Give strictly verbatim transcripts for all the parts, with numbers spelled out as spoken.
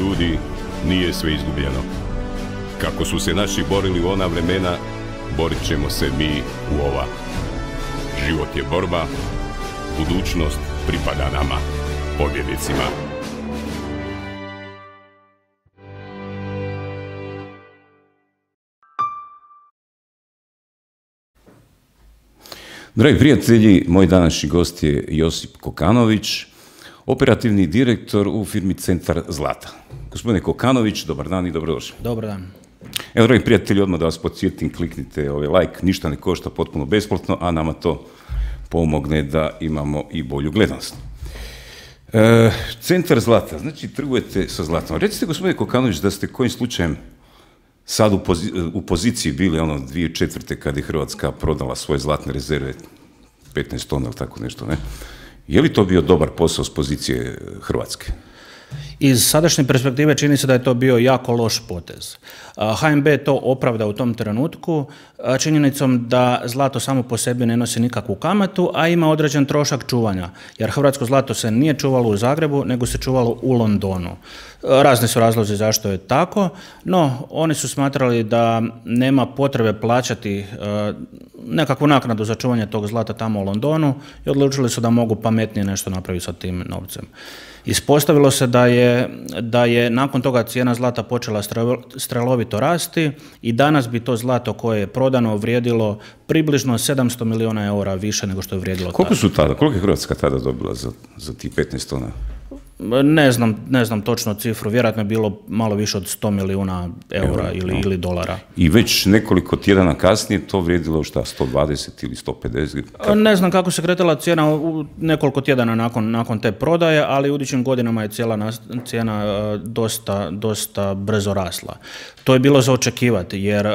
ljudi, nije sve izgubljeno. Kako su se naši borili u ona vremena, borit ćemo se mi u ova. Život je borba, budućnost pripada nama, pobjednicima. Dragi prijatelji, moj današnji gost je Josip Kokanović, operativni direktor u firmi Centar Zlata. Gospodine Kokanović, dobar dan i dobrodošli. Dobar dan. Evo, dragi prijatelji, odmah da vas podsjetim, kliknite ovaj like, ništa ne košta, potpuno besplatno, a nama to pomogne da imamo i bolju gledanost. E, Centar Zlata, znači trgujete sa zlatom. Recite, gospodine Kokanović, da ste kojim slučajem sad u, pozi u poziciji bili ono dvije tisuće četvrte kad je Hrvatska prodala svoje zlatne rezerve, petnaest tona ili tako nešto, ne? Je li to bio dobar posao s pozicije Hrvatske? Iz sadašnje perspektive čini se da je to bio jako loš potez. H N B je to opravda u tom trenutku činjenicom da zlato samo po sebi ne nosi nikakvu kamatu, a ima određen trošak čuvanja, jer hrvatsko zlato se nije čuvalo u Zagrebu, nego se čuvalo u Londonu. Razni su razlozi zašto je tako, no oni su smatrali da nema potrebe plaćati nekakvu naknadu za čuvanje tog zlata tamo u Londonu i odlučili su da mogu pametnije nešto napraviti sa tim novcem. Ispostavilo se da je, da je nakon toga cijena zlata počela strelovito rasti i danas bi to zlato koje je prodano vrijedilo približno sedamsto milijuna eura više nego što je vrijedilo tada. Koliko su tada, koliko je Hrvatska tada dobila za, za tih petnaest tona? Ne znam, ne znam točno cifru, vjerojatno je bilo malo više od sto milijuna eura ili, no. ili dolara. I već nekoliko tjedana kasnije to vrijedilo šta, sto dvadeset ili sto pedeset? Kako? Ne znam kako se kretala cijena u nekoliko tjedana nakon, nakon te prodaje, ali u idućim godinama je cijela cijena dosta, dosta brzo rasla. To je bilo za očekivati, jer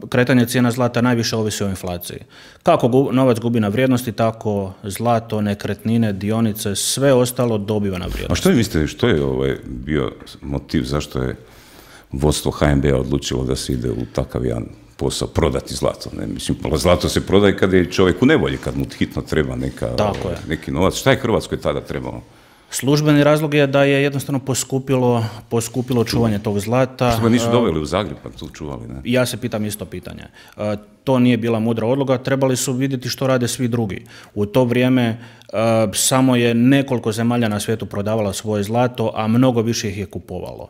kretanje cijena zlata najviše ovisi o inflaciji. Kako novac gubi na vrijednosti, tako zlato, nekretnine, dionice, sve ostalo dobiva na vrijednosti. A što vi mislite, što je ovaj bio motiv, zašto je vodstvo H N B-a odlučilo da se ide u takav jedan posao, prodati zlato? Ne? Mislim, zlato se prodaje kad je čovjek u nevolji, kad mu hitno treba neka, ovaj, neki novac. Šta je Hrvatskoj tada trebalo? Službeni razlog je da je jednostavno poskupilo, poskupilo čuvanje tog zlata. Što ga nisu doveli u Zagreb pa tu čuvali, ne? Ja se pitam isto pitanje. To nije bila mudra odluka, trebali su vidjeti što rade svi drugi. U to vrijeme samo je nekoliko zemalja na svijetu prodavala svoje zlato, a mnogo više ih je kupovalo.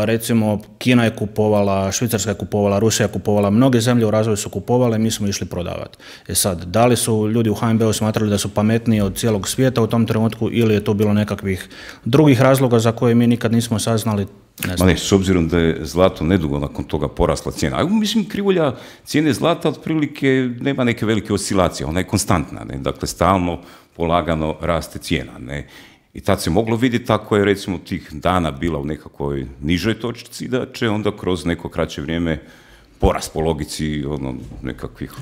Recimo, Kina je kupovala, Švicarska je kupovala, Rusija je kupovala, mnoge zemlje u razvoju su kupovale, mi smo išli prodavati. E sad, da li su ljudi u H N B-u smatrali da su pametniji od cijelog svijeta u tom trenutku ili je to bilo nekakvih drugih razloga za koje mi nikad nismo saznali? Ne Ma ne, s obzirom da je zlato nedugo nakon toga porasla cijena. A mislim, krivulja cijene zlata otprilike nema neke velike oscilacije, ona je konstantna, ne? Dakle, stalno, polagano raste cijena, ne? I tad se moglo vidjeti ako je recimo tih dana bila u nekakvoj nižoj točci, da će onda kroz neko kraće vrijeme porast po logici ono, nekakvih,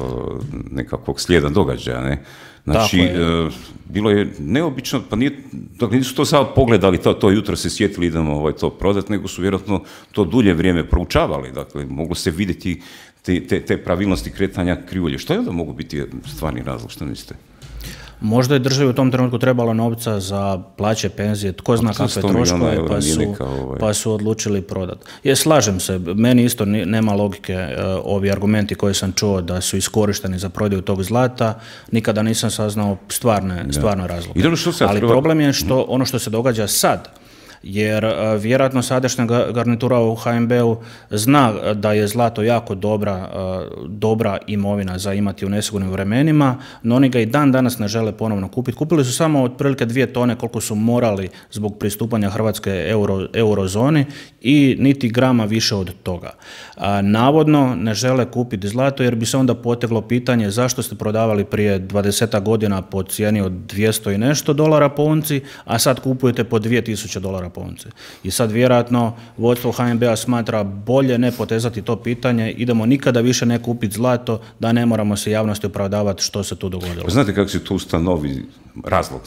nekakvog slijeda događaja, ne? Znači, je. E, bilo je neobično, pa nije, dakle, nisu to samo pogledali, to, to jutro se sjetili idemo ovaj, to prodati, nego su vjerojatno to dulje vrijeme proučavali, dakle, moglo se vidjeti te, te, te pravilnosti kretanja krivulje. Što je onda mogu biti stvarni razlog, što mislite? Možda je državi u tom trenutku trebalo novca za plaće, penzije, tko zna kakve troškove, pa su, neka, ovaj... pa su odlučili prodati. Je, slažem se, meni isto nema logike uh, ovi argumenti koje sam čuo da su iskorišteni za prodaju tog zlata, nikada nisam saznao stvarne, stvarne razloge. Ali treba... problem je što ono što se događa sad, jer uh, vjerojatno sadašnja garnitura u H N B-u zna da je zlato jako dobra, uh, dobra imovina za imati u nesigurnim vremenima, no oni ga i dan danas ne žele ponovno kupiti. Kupili su samo otprilike dvije tone koliko su morali zbog pristupanja Hrvatske euro, eurozoni i niti grama više od toga. Uh, navodno ne žele kupiti zlato jer bi se onda poteglo pitanje zašto ste prodavali prije dvadesetak godina po cijeni od dvjesto i nešto dolara po unci, a sad kupujete po dvije tisuće dolara po unci. I sad vjerojatno vodstvo H N B-a smatra bolje ne potezati to pitanje, idemo nikada više ne kupiti zlato, da ne moramo se javnosti opravdavati što se tu dogodilo. Znate kako se tu ustanovi razlog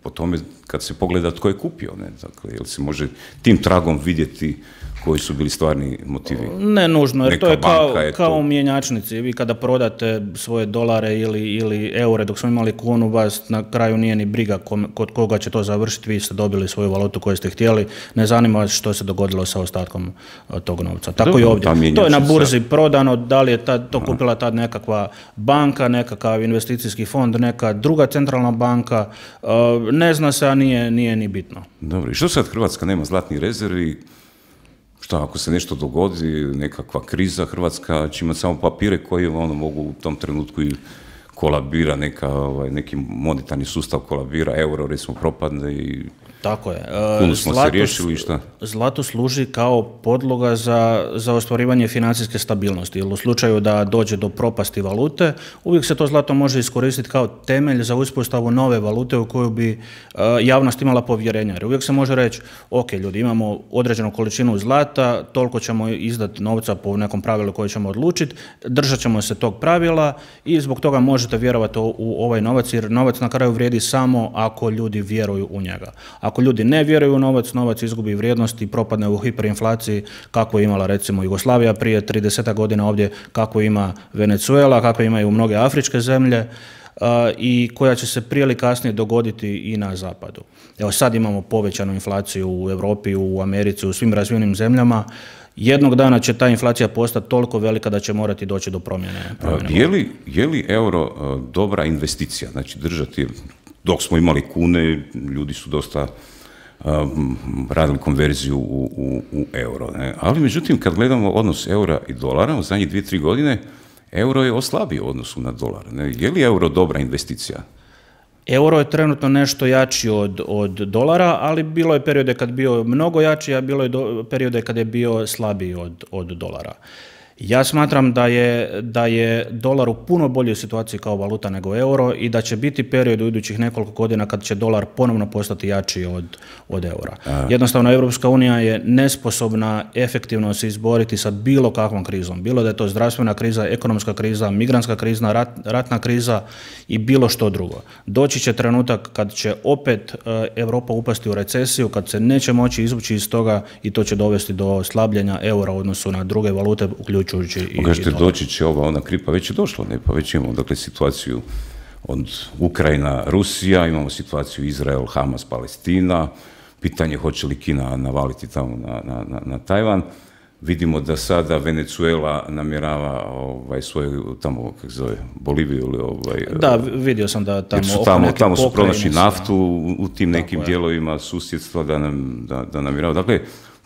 po tome kad se pogleda tko je kupio, ne, dakle, jel se može tim tragom vidjeti koji su bili stvarni motivi? Ne nužno, jer neka to je kao, je kao to... u mjenjačnici. Vi kada prodate svoje dolare ili, ili eure, dok smo imali kunu, vas na kraju nije ni briga kod koga će to završiti, vi ste dobili svoju valutu koju ste htjeli, ne zanima vas što se dogodilo sa ostatkom tog novca. Tako i ovdje. To je na burzi prodano, da li je tad, to kupila tad nekakva banka, nekakav investicijski fond, neka druga centralna banka, ne zna se, a nije, nije ni bitno. Dobro, i što sad Hrvatska nema zlatnih rezervi? Šta, ako se nešto dogodi, nekakva kriza, Hrvatska će imati samo papire koji ono mogu u tom trenutku i kolabira, neka, ovaj, neki monetarni sustav kolabira, euro recimo propadne i tako je. Kunu smo zlato, se riješili i šta? Zlato služi kao podloga za, za ostvarivanje financijske stabilnosti. Jer u slučaju da dođe do propasti valute, uvijek se to zlato može iskoristiti kao temelj za uspostavu nove valute u koju bi uh, javnost imala povjerenja. Jer uvijek se može reći, ok, ljudi, imamo određenu količinu zlata, toliko ćemo izdati novca po nekom pravilu koje ćemo odlučiti, držat ćemo se tog pravila i zbog toga možete vjerovati u, u ovaj novac, jer novac na kraju vrijedi samo ako ljudi vjeruju u njega. Ako ljudi ne vjeruju u novac, novac izgubi vrijednost i propadne u hiperinflaciji kako je imala recimo Jugoslavija prije trideset godina ovdje, kako ima Venezuela, kako imaju mnoge afričke zemlje uh, i koja će se prije ili kasnije dogoditi i na zapadu. Evo sad imamo povećanu inflaciju u Europi, u Americi, u svim razvijenim zemljama. Jednog dana će ta inflacija postati toliko velika da će morati doći do promjene. promjene. Je li, je li euro uh, dobra investicija? Znači držati, dok smo imali kune, ljudi su dosta um, radili konverziju u, u, u euro. Ne? Ali međutim, kad gledamo odnos eura i dolara, u zadnjih dvije, tri godine, euro je oslabio u odnosu na dolar. Ne? Je li euro dobra investicija? Euro je trenutno nešto jači od, od dolara, ali bilo je periode kad bio mnogo jači, a bilo je do, periode kad je bio slabiji od, od dolara. Ja smatram da je, da je dolar u puno boljoj situaciji kao valuta nego euro i da će biti period u idućih nekoliko godina kad će dolar ponovno postati jači od, od eura. Jednostavno, Europska unija je nesposobna efektivno se izboriti sa bilo kakvom krizom. Bilo da je to zdravstvena kriza, ekonomska kriza, migrantska kriza, rat, ratna kriza i bilo što drugo. Doći će trenutak kad će opet Europa upasti u recesiju, kad se neće moći izvući iz toga i to će dovesti do slabljenja eura u odnosu na druge valute, uključujući i kažete, doći će ova ona kripa, već je došlo, ne? Pa već imamo dakle situaciju od Ukrajina, Rusija, imamo situaciju Izrael, Hamas, Palestina, pitanje hoće li Kina navaliti tamo na, na, na, na Tajvan. Vidimo da sada Venezuela namjerava ovaj, svoju tamo, kako zove, Boliviju ili ovaj... Da, vidio sam da tamo... Su tamo, tamo su pronašli naftu u, u tim nekim tako dijelovima susjedstva da, nam, da, da namjerava. Dakle,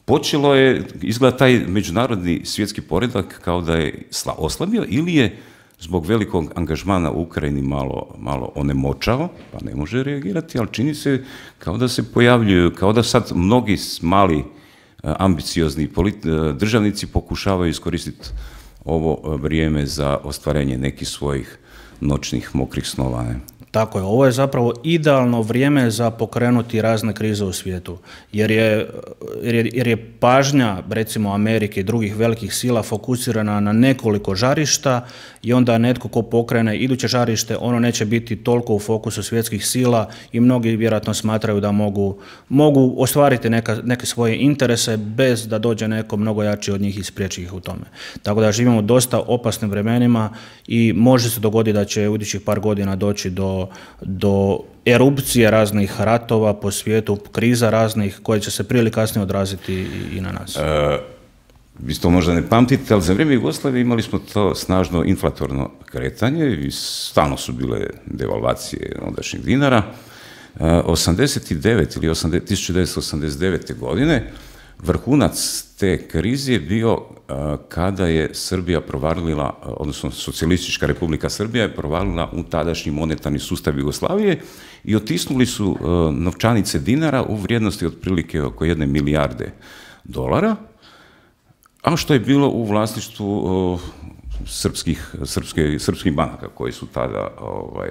počelo je, izgleda taj međunarodni svjetski poredak kao da je oslabio ili je zbog velikog angažmana u Ukrajini malo, malo onemoćao, pa ne može reagirati, ali čini se kao da se pojavljuju, kao da sad mnogi mali ambiciozni državnici pokušavaju iskoristiti ovo vrijeme za ostvarenje nekih svojih noćnih mokrih snova. Ne? Tako je, ovo je zapravo idealno vrijeme za pokrenuti razne krize u svijetu, jer je, jer je, jer je pažnja, recimo Amerike i drugih velikih sila fokusirana na nekoliko žarišta i onda netko ko pokrene iduće žarište, ono neće biti toliko u fokusu svjetskih sila i mnogi vjerojatno smatraju da mogu, mogu ostvariti neka, neke svoje interese bez da dođe neko mnogo jači od njih i spriječi ih u tome. Tako da živimo u dosta opasnim vremenima i može se dogoditi da će u idućih par godina doći do do erupcije raznih ratova po svijetu, kriza raznih koje će se prije ili kasnije odraziti i, i na nas. E, vi to možda ne pamtite, ali za vrijeme Jugoslavije imali smo to snažno inflatorno kretanje i stalno su bile devalvacije ondašnjeg dinara. E, osamdeset devet ili tisuću devetsto osamdeset devete. godine vrhunac te krize je bio uh, kada je Srbija provalila, odnosno Socijalistička Republika Srbija je provalila u tadašnji monetarni sustav Jugoslavije i otisnuli su uh, novčanice dinara u vrijednosti otprilike oko jedne milijarde dolara, a što je bilo u vlasništvu uh, srpskih, srpske, srpskih banaka koji su tada ovaj,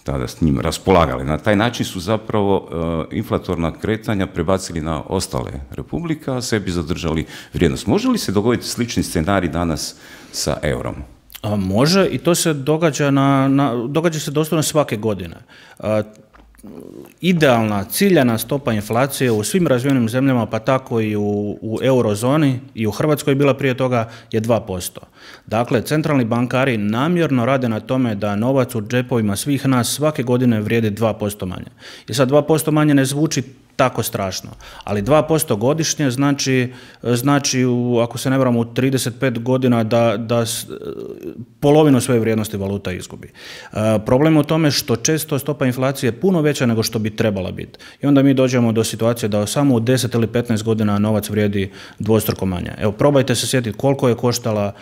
tada s njim raspolagali. Na taj način su zapravo uh, inflatorna kretanja prebacili na ostale republike, a sebi zadržali vrijednost. Može li se dogoditi slični scenarij danas sa eurom? A može i to se događa, na, na, događa se doslovno svake godine. A, idealna, ciljana stopa inflacije u svim razvijenim zemljama, pa tako i u, u eurozoni i u Hrvatskoj je bila prije toga, je dva posto. Dakle, centralni bankari namjerno rade na tome da novac u džepovima svih nas svake godine vrijedi dva posto manje. I sad dva posto manje ne zvuči tako strašno, ali dva posto godišnje znači, znači u, ako se ne varam, u trideset pet godina da, da polovinu svoje vrijednosti valuta izgubi. E, problem je u tome što često stopa inflacije je puno veća nego što bi trebala biti. I onda mi dođemo do situacije da samo u deset ili petnaest godina novac vrijedi dvostruko manje. Evo, probajte se sjetiti koliko je koštala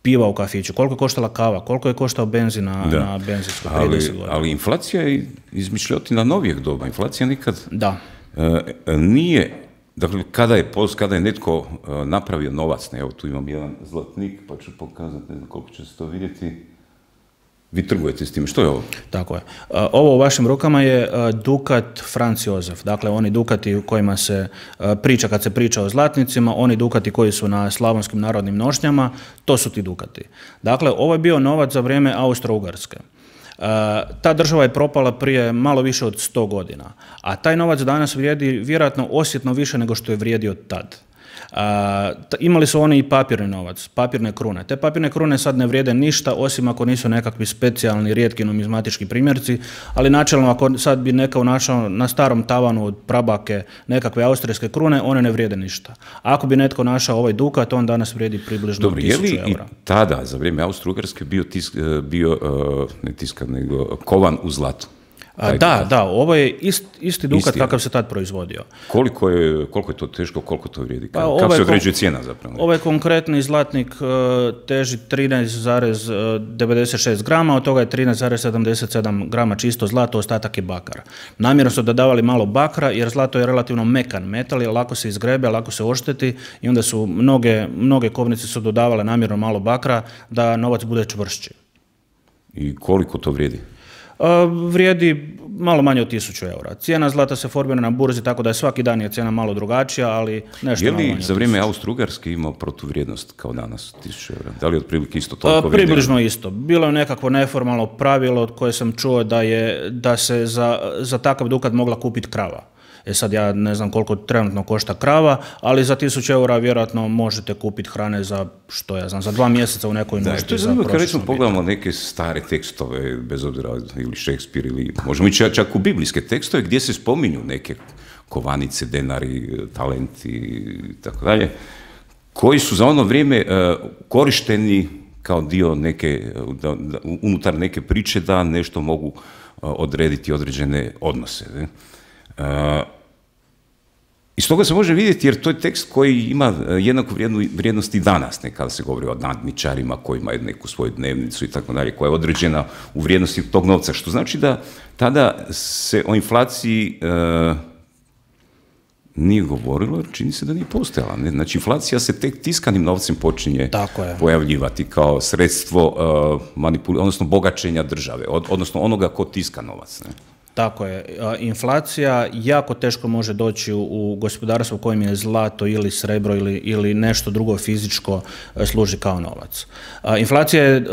piva u kafiću, koliko je koštala kava, koliko je koštao benzin na, na benzinskoj prije deset godina. Ali inflacija je izmišljotina novijeg doba. Inflacija nikad... Da. E, nije, dakle, kada je, kada je netko e, napravio novac, ne, evo tu imam jedan zlatnik, pa ću pokazati, ne znam koliko će se to vidjeti, vi trgujete s tim, što je ovo? Tako je. E, ovo u vašim rukama je e, dukat Franz Josef, dakle oni dukati u kojima se e, priča, kad se priča o zlatnicima, oni dukati koji su na slavonskim narodnim nošnjama, to su ti dukati. Dakle, ovo je bio novac za vrijeme Austro-Ugarske. Uh, ta država je propala prije malo više od sto godina, a taj novac danas vrijedi vjerojatno osjetno više nego što je vrijedio tad. Uh, t- imali su oni i papirni novac, papirne krune. Te papirne krune sad ne vrijede ništa, osim ako nisu nekakvi specijalni, rijetki numizmatički primjerci, ali načelno ako sad bi neko našao na starom tavanu od prabake nekakve austrijske krune, one ne vrijede ništa. Ako bi netko našao ovaj dukat, on danas vrijedi približno tisuću eura. Dobro, je li i tada, za vrijeme Austro-Ugarske, bio, tisk, bio uh, ne tiskan, nego kovan u zlatu? A, da, da, ovo je ist, isti dukat isti, kakav se tad proizvodio. Koliko je, koliko je to teško, koliko to vrijedi? Pa, kako se određuje cijena zapravo? Ovaj konkretni zlatnik uh, teži trinaest zarez devedeset šest grama, od toga je trinaest zarez sedamdeset sedam grama čisto zlato, ostatak je bakar. Namjerno su dodavali malo bakra jer zlato je relativno mekan metal, lako se izgrebe, lako se ošteti i onda su mnoge, mnoge kovnice su dodavale namjerno malo bakra da novac bude čvršći. I koliko to vrijedi? Uh, vrijedi malo manje od tisuću eura. Cijena zlata se formira na burzi, tako da je svaki dan je cijena malo drugačija, ali nešto je malo manje. Je li za vrijeme Austro-Ugarske imao protuvrijednost kao danas tisuću eura? Da li je otprilike isto toliko? Uh, približno isto. Bilo je nekakvo neformalno pravilo od koje sam čuo da, je, da se za, za takav dukat mogla kupiti krava. E sad ja ne znam koliko trenutno košta krava, ali za tisuću eura vjerojatno možete kupiti hrane za, što ja znam, za dva mjeseca u nekoj noći. Da, što je zanimljivo kad recimo pogledamo neke stare tekstove, bez obzira ili Shakespeare ili možemo ići čak u biblijske tekstove gdje se spominju neke kovanice, denari, talenti i tako dalje, koji su za ono vrijeme uh, korišteni kao dio neke, da, da, unutar neke priče da nešto mogu uh, odrediti određene odnose. Ne? Uh, Iz toga se može vidjeti jer to je tekst koji ima jednaku vrijednost i danas, ne, kada se govori o nadničarima koji imaju neku svoju dnevnicu i tako dalje, koja je određena u vrijednosti tog novca, što znači da tada se o inflaciji e, nije govorilo, jer čini se da nije postojala. Ne? Znači, inflacija se tek tiskanim novcem počinje pojavljivati kao sredstvo e, manipul- odnosno bogaćenja države, od, odnosno onoga ko tiska novac. Ne? Tako je. Inflacija jako teško može doći u, u gospodarstvo u kojem je zlato ili srebro ili, ili nešto drugo fizičko služi kao novac. A, inflacija je,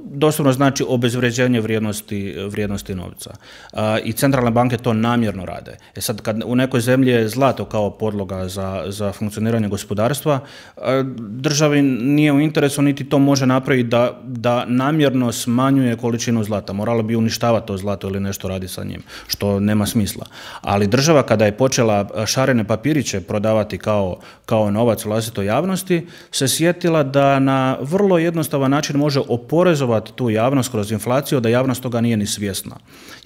doslovno znači obezvređenje vrijednosti, vrijednosti novca. A, I centralne banke to namjerno rade. E sad, kad u nekoj zemlji je zlato kao podloga za, za funkcioniranje gospodarstva, a, državi nije u interesu niti to može napraviti da, da namjerno smanjuje količinu zlata. Morala bi uništavati to zlato ili nešto radi sa njim, što nema smisla. Ali država kada je počela šarene papiriće prodavati kao, kao novac vlastitoj javnosti, se sjetila da na vrlo jednostavan način može oporezovati tu javnost kroz inflaciju, da javnost toga nije ni svjesna.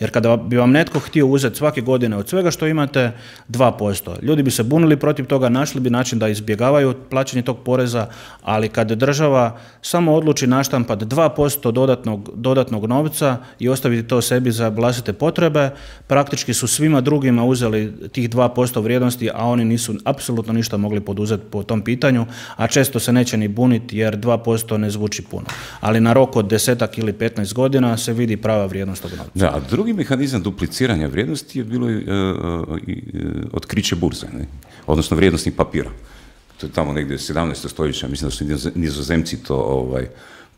Jer kada bi vam netko htio uzeti svake godine od svega što imate dva posto, ljudi bi se bunili protiv toga, našli bi način da izbjegavaju plaćanje tog poreza, ali kad država samo odluči naštampati dva posto dodatnog, dodatnog novca i ostaviti to sebi za vlastite potrebe, praktički su svima drugima uzeli tih dva posto vrijednosti, a oni nisu apsolutno ništa mogli poduzeti po tom pitanju, a često se neće ni buniti jer dva posto ne zvuči puno. Ali na rok od desetak ili petnaest godina se vidi prava vrijednost tog novca. Da, a drugi mehanizam dupliciranja vrijednosti je bilo uh, uh, uh, otkriće burze, ne? Odnosno vrijednosnih papira. to je tamo negdje sedamnaestog stoljeća, mislim da su Nizozemci to ovaj,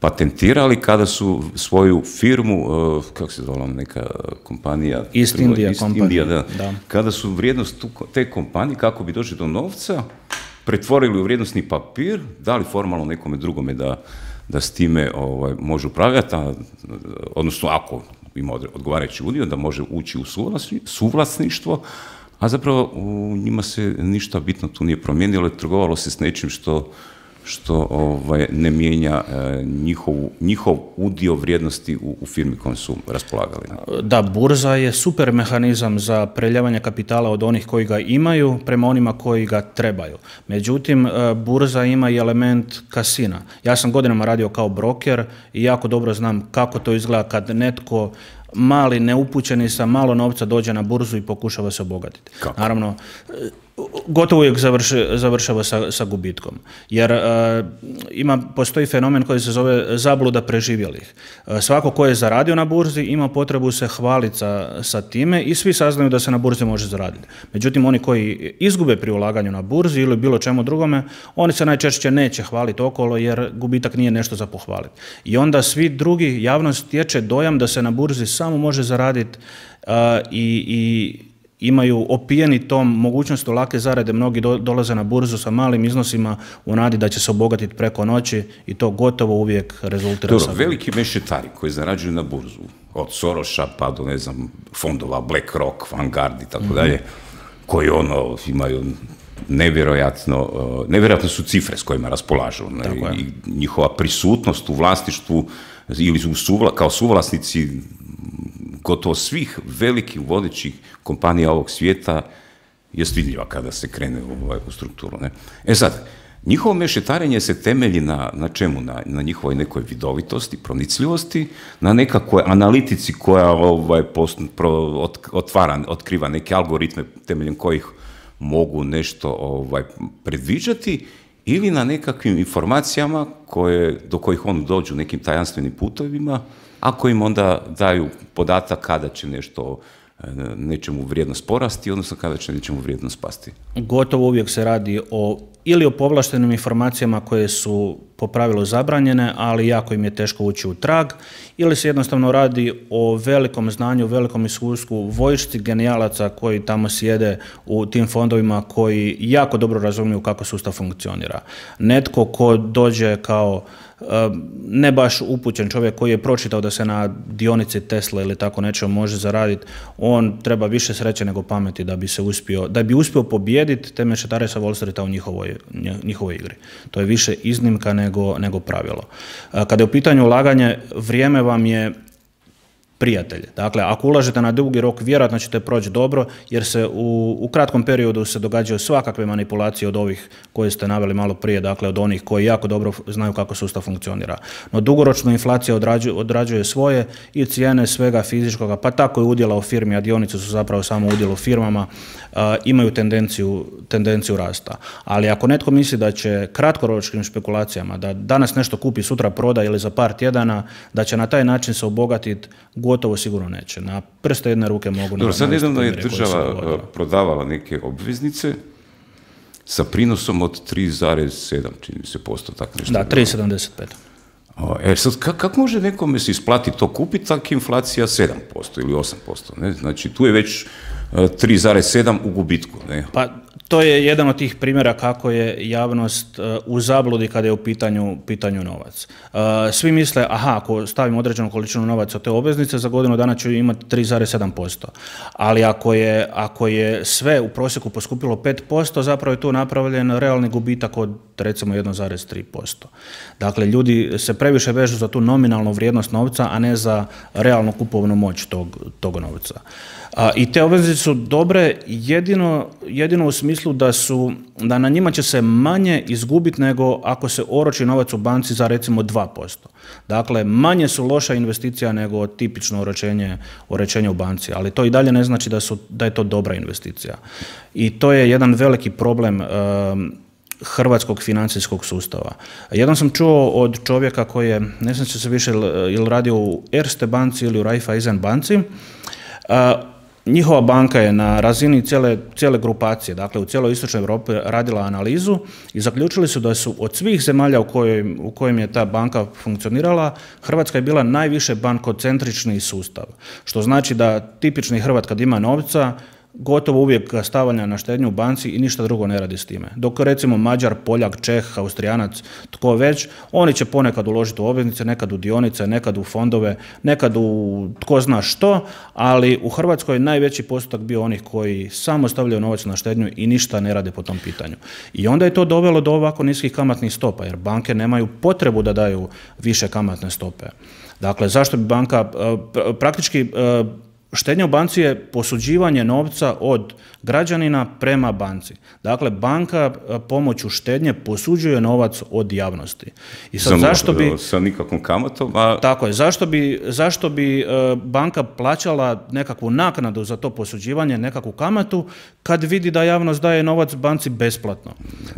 patentirali kada su svoju firmu, uh, kako se zvala neka kompanija? East India India, da. Da. Kada su vrijednost tu, te kompanije, kako bi došli do novca, pretvorili u vrijednosni papir, dali formalno nekome drugome da, da s time ovaj, može upravljati, a, odnosno ako ima odgovarajući udio, da može ući u suvlasništvo, a zapravo u njima se ništa bitno tu nije promijenilo, trgovalo se s nečim što što ovaj, ne mijenja e, njihov, njihov udio vrijednosti u, u firmi kojom su raspolagali. Da, burza je super mehanizam za preljevanje kapitala od onih koji ga imaju prema onima koji ga trebaju. Međutim, e, burza ima i element kasina. Ja sam godinama radio kao broker i jako dobro znam kako to izgleda kad netko mali, neupućeni sa malo novca dođe na burzu i pokušava se obogatiti. Kako? Naravno, gotovo uvijek završi, završava sa, sa gubitkom. Jer uh, ima, postoji fenomen koji se zove zabluda preživjelih. Uh, svako ko je zaradio na burzi ima potrebu se hvaliti sa, sa time i svi saznaju da se na burzi može zaraditi. Međutim, oni koji izgube pri ulaganju na burzi ili bilo čemu drugome, oni se najčešće neće hvaliti okolo jer gubitak nije nešto za pohvaliti. I onda svi drugi, javnost stječe dojam da se na burzi samo može zaraditi uh, i, i imaju opijeni tom mogućnosti lake zarade, mnogi do, dolaze na burzu sa malim iznosima u nadi da će se obogatiti preko noći i to gotovo uvijek rezultira. Dobro, veliki mešetari koji zarađuju na burzu, od Soroša pa do, ne znam, fondova BlackRock, Vanguard i tako mm-hmm. dalje, koji ono imaju nevjerojatno, nevjerojatno su cifre s kojima raspolažu. Ne? I njihova prisutnost u vlasništvu ili u suvla, kao suvlasnici gotovo svih velikih vodećih kompanija ovog svijeta je vidljiva kada se krene u, u strukturu. Ne? E sad, njihovo mešetarenje se temelji na, na čemu? Na, na njihovoj nekoj vidovitosti, pronicljivosti, na nekakvoj analitici koja ovaj, post, pro, ot, otvara, otkriva neke algoritme temeljem kojih mogu nešto ovaj, predviđati, ili na nekakvim informacijama koje, do kojih oni dođu nekim tajanstvenim putovima, a koji im onda daju podatak kada će nešto, nečemu vrijednost porasti, odnosno kada će nečemu vrijednost pasti. Gotovo uvijek se radi o ili o povlaštenim informacijama koje su po pravilu zabranjene, ali jako im je teško ući u trag, ili se jednostavno radi o velikom znanju, velikom iskustvu vojšci genijalaca koji tamo sjede u tim fondovima, koji jako dobro razumiju kako sustav funkcionira. Netko ko dođe kao ne baš upućen čovjek koji je pročitao da se na dionici Tesla ili tako nečemu može zaraditi, on treba više sreće nego pameti da bi se uspio, da bi uspio pobijediti te mešetare sa Wall Streeta u njihovoj, njihovoj igri. To je više iznimka nego, nego pravilo. Kada je u pitanju ulaganje, vrijeme vam je prijatelj. Dakle, ako ulažete na dugi rok, vjerojatno ćete proći dobro, jer se u, u kratkom periodu se događaju svakakve manipulacije od ovih koje ste naveli malo prije, dakle od onih koji jako dobro znaju kako sustav funkcionira. No dugoročno inflacija odrađuje, odrađuje svoje i cijene svega fizičkoga, pa tako i udjela u firmi, a dionice su zapravo samo udjel u firmama, uh, imaju tendenciju, tendenciju rasta. Ali ako netko misli da će kratkoročnim špekulacijama, da danas nešto kupi, sutra proda ili za par tjedana, da će na taj način se obogatiti, gotovo sigurno neće. Na prste jedne ruke mogu... Dobro, sad nedavno je država prodavala neke obveznice sa prinosom od tri zarez sedam, čini se, posto, tako nešto. Da, tri zarez sedamdeset pet. E sad, kako kak može nekome se isplati to kupiti, tako inflacija sedam posto ili osam posto, ne? Znači, tu je već tri zarez sedam u gubitku, ne? Pa, to je jedan od tih primjera kako je javnost u zabludi kada je u pitanju, pitanju novac. Svi misle, aha, ako stavim određenu količinu novaca u te obveznice, za godinu dana ću imati tri zarez sedam posto. Ali ako je, ako je sve u prosjeku poskupilo pet posto, zapravo je tu napravljen realni gubitak od recimo jedan zarez tri posto. Dakle, ljudi se previše vežu za tu nominalnu vrijednost novca, a ne za realnu kupovnu moć tog, tog novca. A, I te obveznice su dobre jedino, jedino u smislu da, su, da na njima će se manje izgubiti nego ako se oroči novac u banci za recimo dva posto. Dakle, manje su loša investicija nego tipično oročenje, oročenje u banci, ali to i dalje ne znači da, su, da je to dobra investicija. I to je jedan veliki problem um, hrvatskog financijskog sustava. Jednom sam čuo od čovjeka koji je, ne znam će se više ili radio u Erste banci ili u Raiffeisen banci, uh, njihova banka je na razini cijele, cijele grupacije, dakle u cijeloj istočnoj Europi radila analizu i zaključili su da su od svih zemalja u kojim, u kojim je ta banka funkcionirala, Hrvatska je bila najviše bankocentrični sustav. Što znači da tipični Hrvat kad ima novca, gotovo uvijek ga stavlja na štednju u banci i ništa drugo ne radi s time. Dok recimo Mađar, Poljak, Čeh, Austrijanac, tko već, oni će ponekad uložiti u obveznice, nekad u dionice, nekad u fondove, nekad u tko zna što, ali u Hrvatskoj je najveći postotak bio onih koji samo stavljaju novac na štednju i ništa ne rade po tom pitanju. I onda je to dovelo do ovako niskih kamatnih stopa, jer banke nemaju potrebu da daju više kamatne stope. Dakle, zašto bi banka praktički štednja u banci je posuđivanje novca od građanina prema banci. Dakle, banka pomoću štednje posuđuje novac od javnosti. I sad, zašto bi, sa nikakvom kamatom, a... Tako je. Zašto bi, zašto bi banka plaćala nekakvu naknadu za to posuđivanje, nekakvu kamatu, kad vidi da javnost daje novac banci besplatno?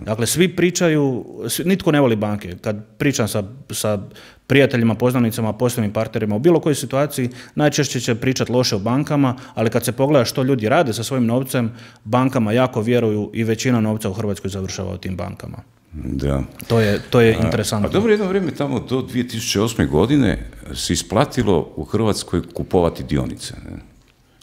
Dakle, svi pričaju, nitko ne voli banke. Kad pričam sa, sa prijateljima, poznanicama, poslovnim partnerima u bilo kojoj situaciji, najčešće će pričati loše o bankama, ali kad se pogleda što ljudi rade sa svojim novcem, bankama jako vjeruju i većina novca u Hrvatskoj završava u tim bankama. Da. To je, to je interesantno. A dobro, jedno vrijeme tamo do dvije tisuće osme. godine se isplatilo u Hrvatskoj kupovati dionice. Ne?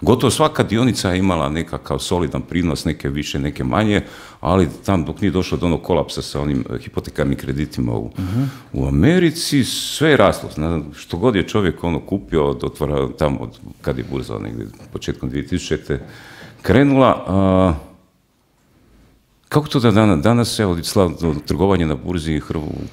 Gotovo svaka dionica je imala nekakav solidan prinos, neke više, neke manje, ali tam dok nije došlo do onog kolapsa sa onim hipotekarnim kreditima u, uh-huh. u Americi, sve je raslo. Što god je čovjek ono kupio, od otvora, tamo od, kad je burza negdje početkom dvije tisućite. krenula, a, kako to da danas, danas evo, trgovanje na burzi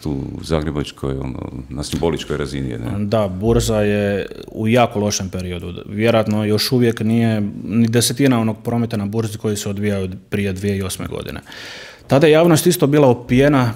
tu u Zagrebačkoj, ono, na simboličkoj razini je, ne? Da, burza je u jako lošem periodu. Vjerojatno još uvijek nije ni desetina onog prometa na burzi koji se odvijao prije dvije tisuće osme. godine. Tada je javnost isto bila opijena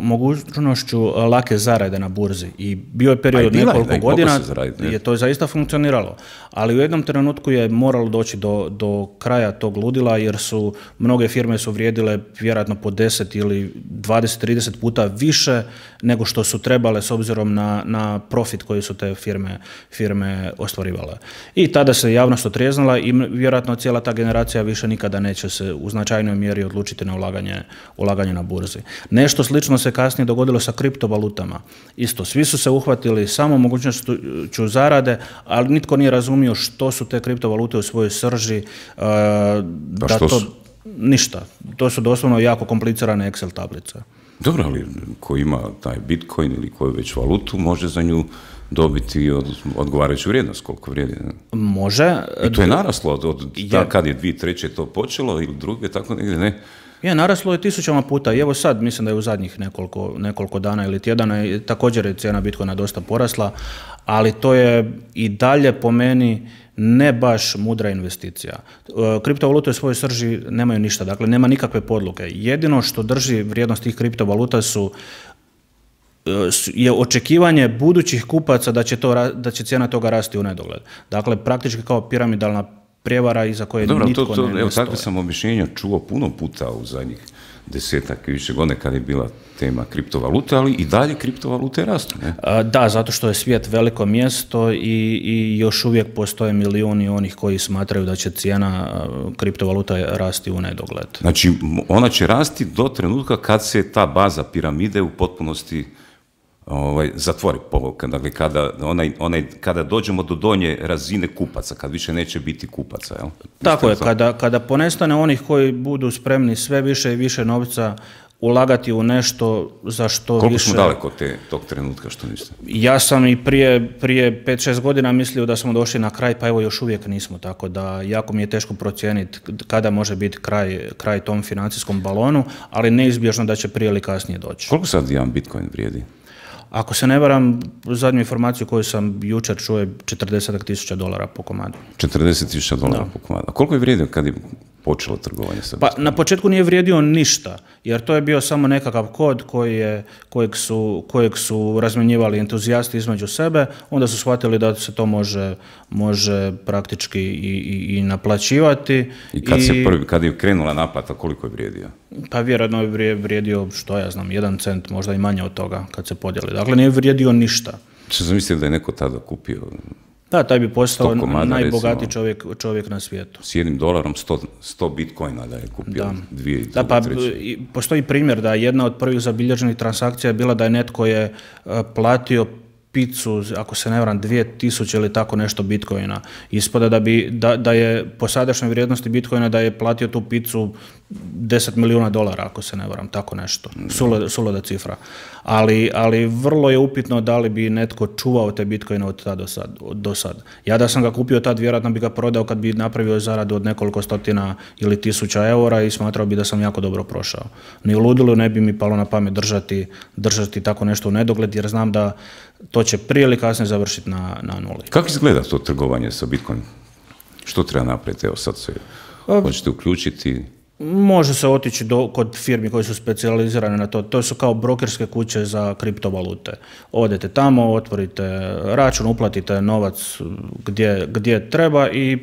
mogućnošću lake zarade na burzi i bio je period od nekoliko godina je to zaista funkcioniralo, ali u jednom trenutku je moralo doći do, do kraja tog ludila jer su mnoge firme su vrijedile vjerojatno po deset ili dvadeset trideset puta više nego što su trebale s obzirom na, na profit koji su te firme, firme ostvarivale. I tada se javnost otrijeznila i vjerojatno cijela ta generacija više nikada neće se u značajnoj mjeri odlučiti na ulaganje ulaganje na burzi. Nešto slično se kasnije dogodilo sa kriptovalutama. Isto, svi su se uhvatili samo mogućnošću zarade, ali nitko nije razumio što su te kriptovalute u svojoj srži. Uh, da to, su? Ništa. To su doslovno jako komplicirane Excel tablice. Dobro, ali ko ima taj Bitcoin ili koju već valutu, može za nju dobiti od, odgovarajuću vrijednost, koliko vrijedi. Ne? Može. I to je naraslo od, od ja. kad je dvije treće to počelo ili druge, tako negdje, ne? Je, naraslo je tisućama puta i evo sad, mislim da je u zadnjih nekoliko, nekoliko dana ili tjedana i također je cijena Bitcoina dosta porasla, ali to je i dalje po meni ne baš mudra investicija. Kriptovalute u svojoj srži nemaju ništa, dakle nema nikakve podloge. Jedino što drži vrijednost tih kriptovaluta su je očekivanje budućih kupaca da će, to, da će cijena toga rasti u nedogled. Dakle, praktički kao piramidalna prijevara iza koje Dobro, nitko to, to, ne, ne evo, stoje. takve sam objašnjenja čuo puno puta u zadnjih desetak i više godine kad je bila tema kriptovalute, ali i dalje kriptovalute rastu. Ne? A, da, zato što je svijet veliko mjesto i, i još uvijek postoje milijuni onih koji smatraju da će cijena kriptovaluta rasti u nedogled. Znači, ona će rasti do trenutka kad se ta baza piramide u potpunosti Ovaj, zatvori, dakle, kada, onaj, onaj, kada dođemo do donje razine kupaca, kad više neće biti kupaca. Jel? Tako je, kada, kada ponestane onih koji budu spremni sve više i više novca ulagati u nešto za što Koliko više... smo daleko te, tog trenutka, što mislite? Ja sam i prije, prije pet šest godina mislio da smo došli na kraj, pa evo još uvijek nismo, tako da jako mi je teško procijeniti kada može biti kraj, kraj tom financijskom balonu, ali neizbježno da će prije ili kasnije doći. Koliko sad jedan Bitcoin vrijedi? Ako se ne varam, zadnju informaciju koju sam jučer čuo je četrdeset tisuća dolara po komadu. četrdeset tisuća dolara po komadu. A koliko je vrijedio kad je počelo trgovanje sa Pa na početku nije vrijedio ništa, jer to je bio samo nekakav kod koji je, kojeg, su, kojeg su razmjenjivali entuzijasti između sebe, onda su shvatili da se to može, može praktički i, i, i naplaćivati. I kad, I se prvi, kad je krenula naplata, koliko je vrijedio? Pa vjerojatno je vrijedio, što ja znam, jedan cent, možda i manje od toga kad se podijeli. Dakle, nije vrijedio ništa. Što sam mislio da je neko tada kupio? Da, taj bi postao najbogatiji čovjek, čovjek na svijetu. S jednim dolarom sto bitcoina da je kupio. Da. Dvije, da, pa i, postoji primjer da jedna od prvih zabilježenih transakcija je bila da je netko je uh, platio picu, ako se ne varam, dvije tisuće ili tako nešto bitcoina. Ispada da, bi, da, da je po sadašnjoj vrijednosti bitcoina da je platio tu picu deset milijuna dolara, ako se ne varam, tako nešto. Suluda cifra. Ali, ali vrlo je upitno da li bi netko čuvao te bitcoine od tada do sad, do sad. Ja da sam ga kupio tad, vjerojatno bi ga prodao kad bi napravio zaradu od nekoliko stotina ili tisuća eura i smatrao bi da sam jako dobro prošao. Ni u ludilu ne bi mi palo na pamet držati, držati tako nešto u nedogled, jer znam da to će prije ili kasnije završiti na, na nuli. Kako izgleda to trgovanje sa bitcoinom? Što treba napraviti? Evo sad se hoćete uključiti. Može se otići do, kod firmi koji su specijalizirane na to. To su kao brokerske kuće za kriptovalute. Odete tamo, otvorite račun, uplatite novac gdje, gdje treba i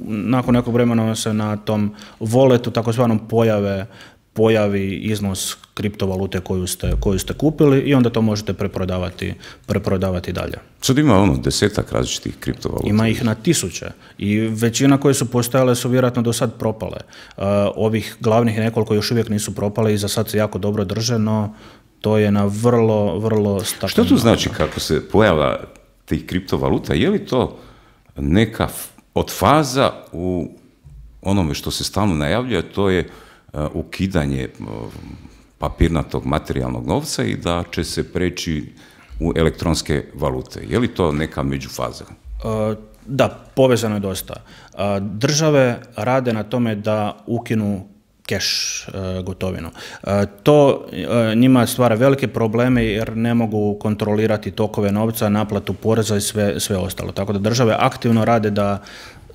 nakon nekog vremena se na tom walletu takozvanom pojave pojavi iznos kriptovalute koju ste, koju ste kupili i onda to možete preprodavati, preprodavati dalje. Sad ima ono desetak različitih kriptovaluta. Ima ih na tisuće i većina koje su postojale su vjerojatno do sad propale. Uh, ovih glavnih nekoliko još uvijek nisu propale i za sad se jako dobro drže, no to je na vrlo, vrlo stabilno. Što to znači kako se pojava tih kriptovaluta? Je li to neka od faza u onome što se stalno najavljuje, to je ukidanje papirnatog materijalnog novca i da će se preći u elektronske valute. Je li to neka međufaza? Da, povezano je dosta. Države rade na tome da ukinu keš gotovinu. To njima stvara velike probleme jer ne mogu kontrolirati tokove novca, naplatu poreza i sve, sve ostalo. Tako da države aktivno rade da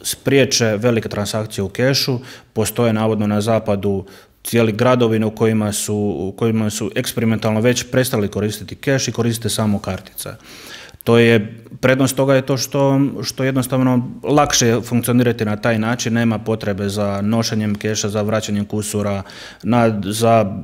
spriječe velike transakcije u kešu. Postoje navodno na zapadu cijeli gradovi u kojima su, u kojima su eksperimentalno već prestali koristiti keš i koriste samo kartice. To je, prednost toga je to što, što jednostavno lakše funkcionirati na taj način, nema potrebe za nošenjem keša, za vraćanjem kusura, na, za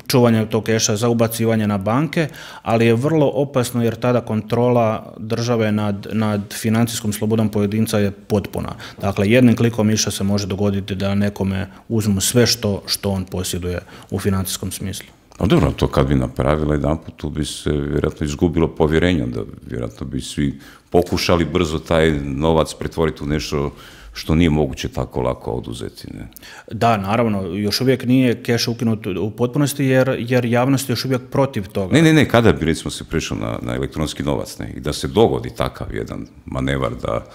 čuvanje tog keša, za ubacivanje na banke, ali je vrlo opasno jer tada kontrola države nad, nad financijskom slobodom pojedinca je potpuna. Dakle, jednim klikom miša se može dogoditi da nekome uzmu sve što, što on posjeduje u financijskom smislu. A dobro, to kad bi napravila jedan put, tu bi se vjerojatno izgubilo povjerenje, da vjerojatno bi svi pokušali brzo taj novac pretvoriti u nešto što nije moguće tako lako oduzeti. Ne? Da, naravno, još uvijek nije keš ukinut u potpunosti jer, jer javnost je još uvijek protiv toga. Ne, ne, ne, kada bi recimo se prešao na, na elektronski novac, ne, i da se dogodi takav jedan manevar da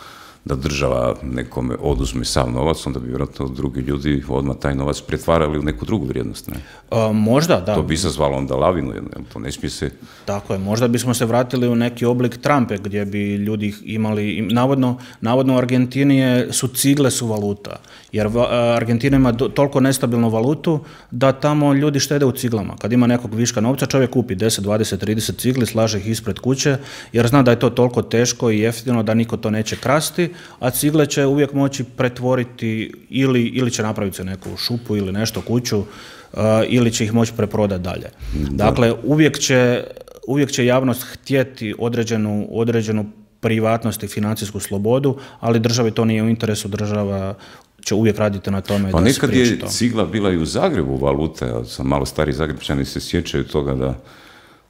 da država nekome oduzme sav novac, onda bi vjerojatno drugi ljudi odmah taj novac pretvarali u neku drugu vrijednost. Ne? A, možda, da. To bi izazvalo onda lavinu, to ne smije se... Tako je, možda bismo se vratili u neki oblik Trumpe gdje bi ljudi imali, navodno, navodno u Argentini je, su cigle su valuta, jer Argentina ima do, toliko nestabilnu valutu da tamo ljudi štede u ciglama. Kad ima nekog viška novca, čovjek kupi deset, dvadeset, trideset cigli, slaže ih ispred kuće, jer zna da je to toliko teško i jeftino da niko to neće krasti, a cigle će uvijek moći pretvoriti ili, ili će napraviti se neku šupu ili nešto kuću uh, ili će ih moći preprodati dalje. Da. Dakle, uvijek će, uvijek će javnost htjeti određenu, određenu privatnost i financijsku slobodu, ali državi to nije u interesu, država će uvijek raditi na tome pa da se priječi to. Nekad je cigla bila i u Zagrebu valuta, ja sam malo stari Zagrebčani se sjećaju toga da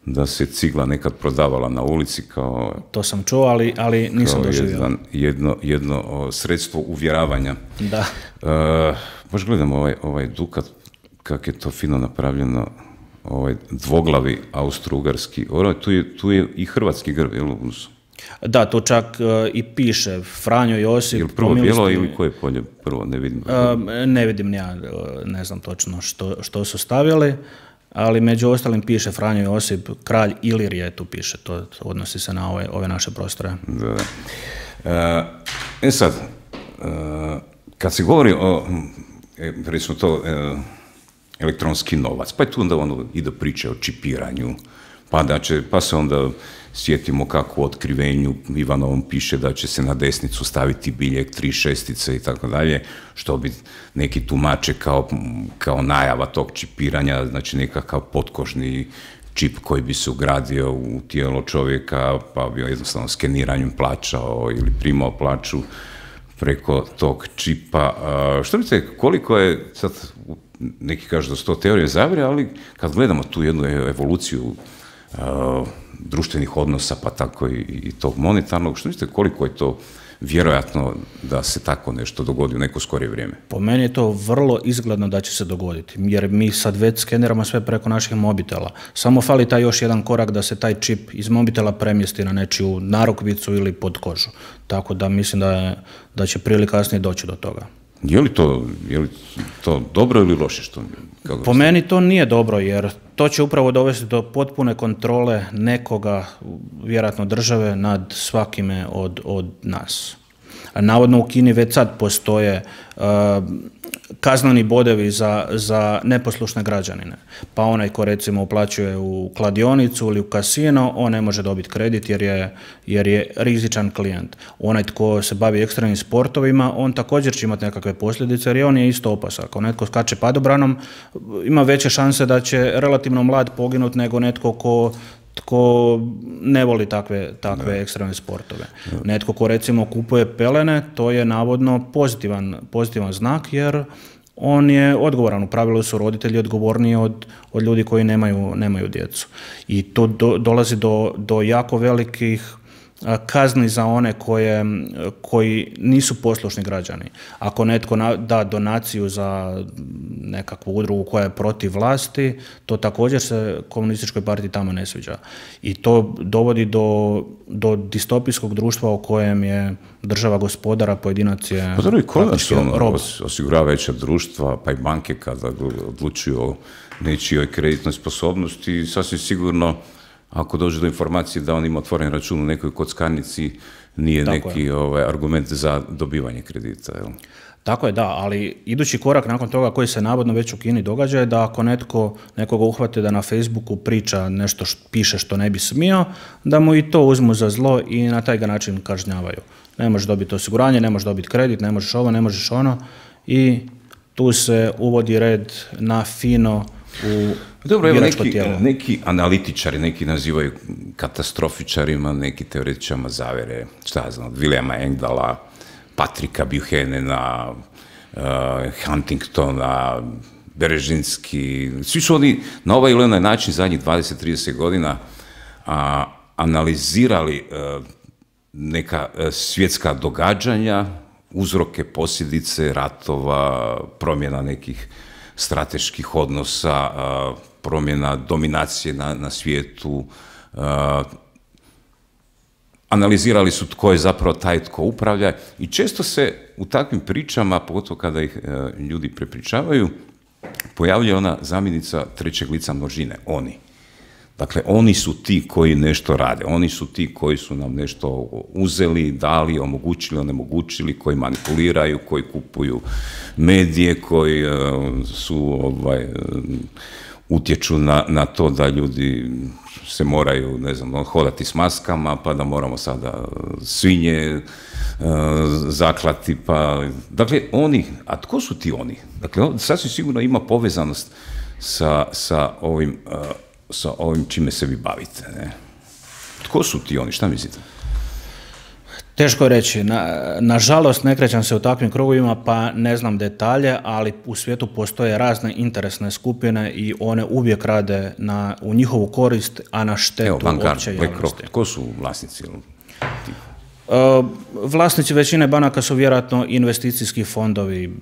da se cigla nekad prodavala na ulici kao... To sam čuo, ali, ali nisam doživio. Jedan, jedno, jedno o, sredstvo uvjeravanja. Da. E, baš gledam ovaj, ovaj Dukat, kak je to fino napravljeno, ovaj dvoglavi austro-ugarski. Tu je, tu je i hrvatski grb, jel? Da, to čak uh, i piše Franjo Josip. Jel prvo bijelo ili koje polje prvo, ne vidim? Uh, ne vidim ja, ne znam točno što, što su stavili. Ali među ostalim piše Franjo Josip, kralj Ilirije, tu piše, to odnosi se na ove, ove naše prostore. Da, da. E sad, kad se govori o, recimo to, elektronski novac, pa je tu onda ono ide priče o čipiranju, pa, da će, pa se onda sjetimo kako u otkrivenju Ivanovom piše da će se na desnicu staviti biljeg, tri šestice i tako dalje, što bi neki tumače kao, kao najava tog čipiranja, znači nekakav potkožni čip koji bi se ugradio u tijelo čovjeka, pa bi jednostavno skeniranjem plaćao ili primao plaću preko tog čipa. Što mislite, koliko je, sad neki kažu da su to teorije zavjere, ali kad gledamo tu jednu evoluciju uh, društvenih odnosa, pa tako i, i tog monetarnog, što mislite, koliko je to vjerojatno da se tako nešto dogodi u neko skorije vrijeme? Po meni je to vrlo izgledno da će se dogoditi, jer mi sad već skeniramo sve preko naših mobitela. Samo fali taj još jedan korak da se taj čip iz mobitela premjesti na nečiju narukvicu ili pod kožu. Tako da mislim da, je, da će prije ili kasnije doći do toga. Je li to, je li to dobro ili loše? Što, kako po meni to nije dobro, jer to će upravo dovesti do potpune kontrole nekoga, vjerojatno države, nad svakime od, od nas. Navodno u Kini već sad postoje uh, kazneni bodevi za, za neposlušne građanine. Pa onaj ko recimo uplaćuje u kladionicu ili u kasino, on ne može dobiti kredit jer je, jer je rizičan klijent. Onaj tko se bavi ekstremnim sportovima, on također će imati nekakve posljedice jer on je isto opasan. Ako netko skače padobranom, ima veće šanse da će relativno mlad poginuti nego netko ko tko ne voli takve, takve ekstremne sportove. Netko ko recimo kupuje pelene, to je navodno pozitivan, pozitivan znak, jer on je odgovoran. U pravilu su roditelji odgovorniji od, od ljudi koji nemaju, nemaju djecu. I to do, dolazi do, do jako velikih kazni za one koje, koji nisu poslušni građani. Ako netko da donaciju za nekakvu udrugu koja je protiv vlasti, to također se komunističkoj partiji tamo ne sviđa. I to dovodi do, do distopijskog društva u kojem je država gospodara, pojedinac je pa praktički rob. Osiguravajuća društva, pa i banke kada odlučuju o nečijoj kreditnoj sposobnosti, sasvim sigurno ako dođe do informacije da on ima otvoren račun u nekoj kockarnici, nije tako neki ovaj, argument za dobivanje kredita. Jel? Tako je, da, ali idući korak nakon toga koji se navodno već u Kini događa je da ako netko, nekoga uhvate da na Facebooku priča nešto što piše što ne bi smio, da mu i to uzmu za zlo i na taj ga način kažnjavaju. Ne možeš dobiti osiguranje, ne možeš dobiti kredit, ne možeš ovo, ne možeš ono i tu se uvodi red na fino u Dobro, evo neki, neki analitičari, neki nazivaju katastrofičarima, neki teoretičarima zavere, šta ja znam, Williama Engdala, Patrika Buchanana, uh, Huntingtona, Berežinski, svi su oni na ovaj ili onaj način zadnjih dvadeset do trideset godina a, analizirali uh, neka uh, svjetska događanja, uzroke, posljedice ratova, promjena nekih strateških odnosa, uh, promjena dominacije na, na svijetu, uh, analizirali su tko je zapravo taj tko upravlja i često se u takvim pričama, pogotovo kada ih uh, ljudi prepričavaju, pojavljuje ona zamjenica trećeg lica množine, oni. Dakle, oni su ti koji nešto rade, oni su ti koji su nam nešto uzeli, dali, omogućili, onemogućili, koji manipuliraju, koji kupuju medije, koji uh, su ovaj, utječu na, na to da ljudi se moraju, ne znam, hodati s maskama, pa da moramo sada svinje uh, zaklati, pa... Dakle, oni, a tko su ti oni? Dakle, sasvim sigurno ima povezanost sa, sa ovim... Uh, sa ovim čime se vi bavite. Ne? Tko su ti oni? Šta mislite? Teško je reći. Na, nažalost, ne krećem se u takvim krugovima, pa ne znam detalje, ali u svijetu postoje razne interesne skupine i one uvijek rade na, u njihovu korist, a na štetu opće javnosti. Tko su vlasnici? Uh, vlasnici većine banaka su vjerojatno investicijski fondovi.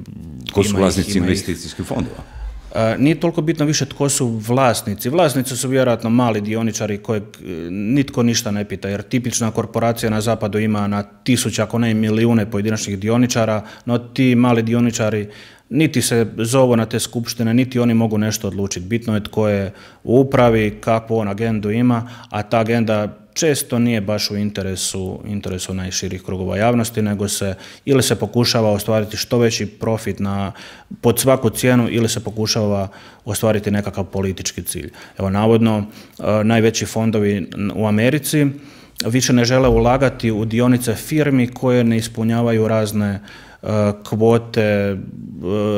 Tko su vlasnici investicijskih fondova? Uh, nije toliko bitno više tko su vlasnici. Vlasnici su vjerojatno mali dioničari kojeg nitko ništa ne pita, jer tipična korporacija na zapadu ima na tisuće, ako ne i milijune pojedinačnih dioničara, no ti mali dioničari niti se zovu na te skupštine, niti oni mogu nešto odlučiti. Bitno je tko je u upravi, kakvu on agendu ima, a ta agenda često nije baš u interesu, interesu najširih krugova javnosti, nego se ili se pokušava ostvariti što veći profit na, pod svaku cijenu ili se pokušava ostvariti nekakav politički cilj. Evo, navodno, najveći fondovi u Americi više ne žele ulagati u dionice firmi koje ne ispunjavaju razne kvote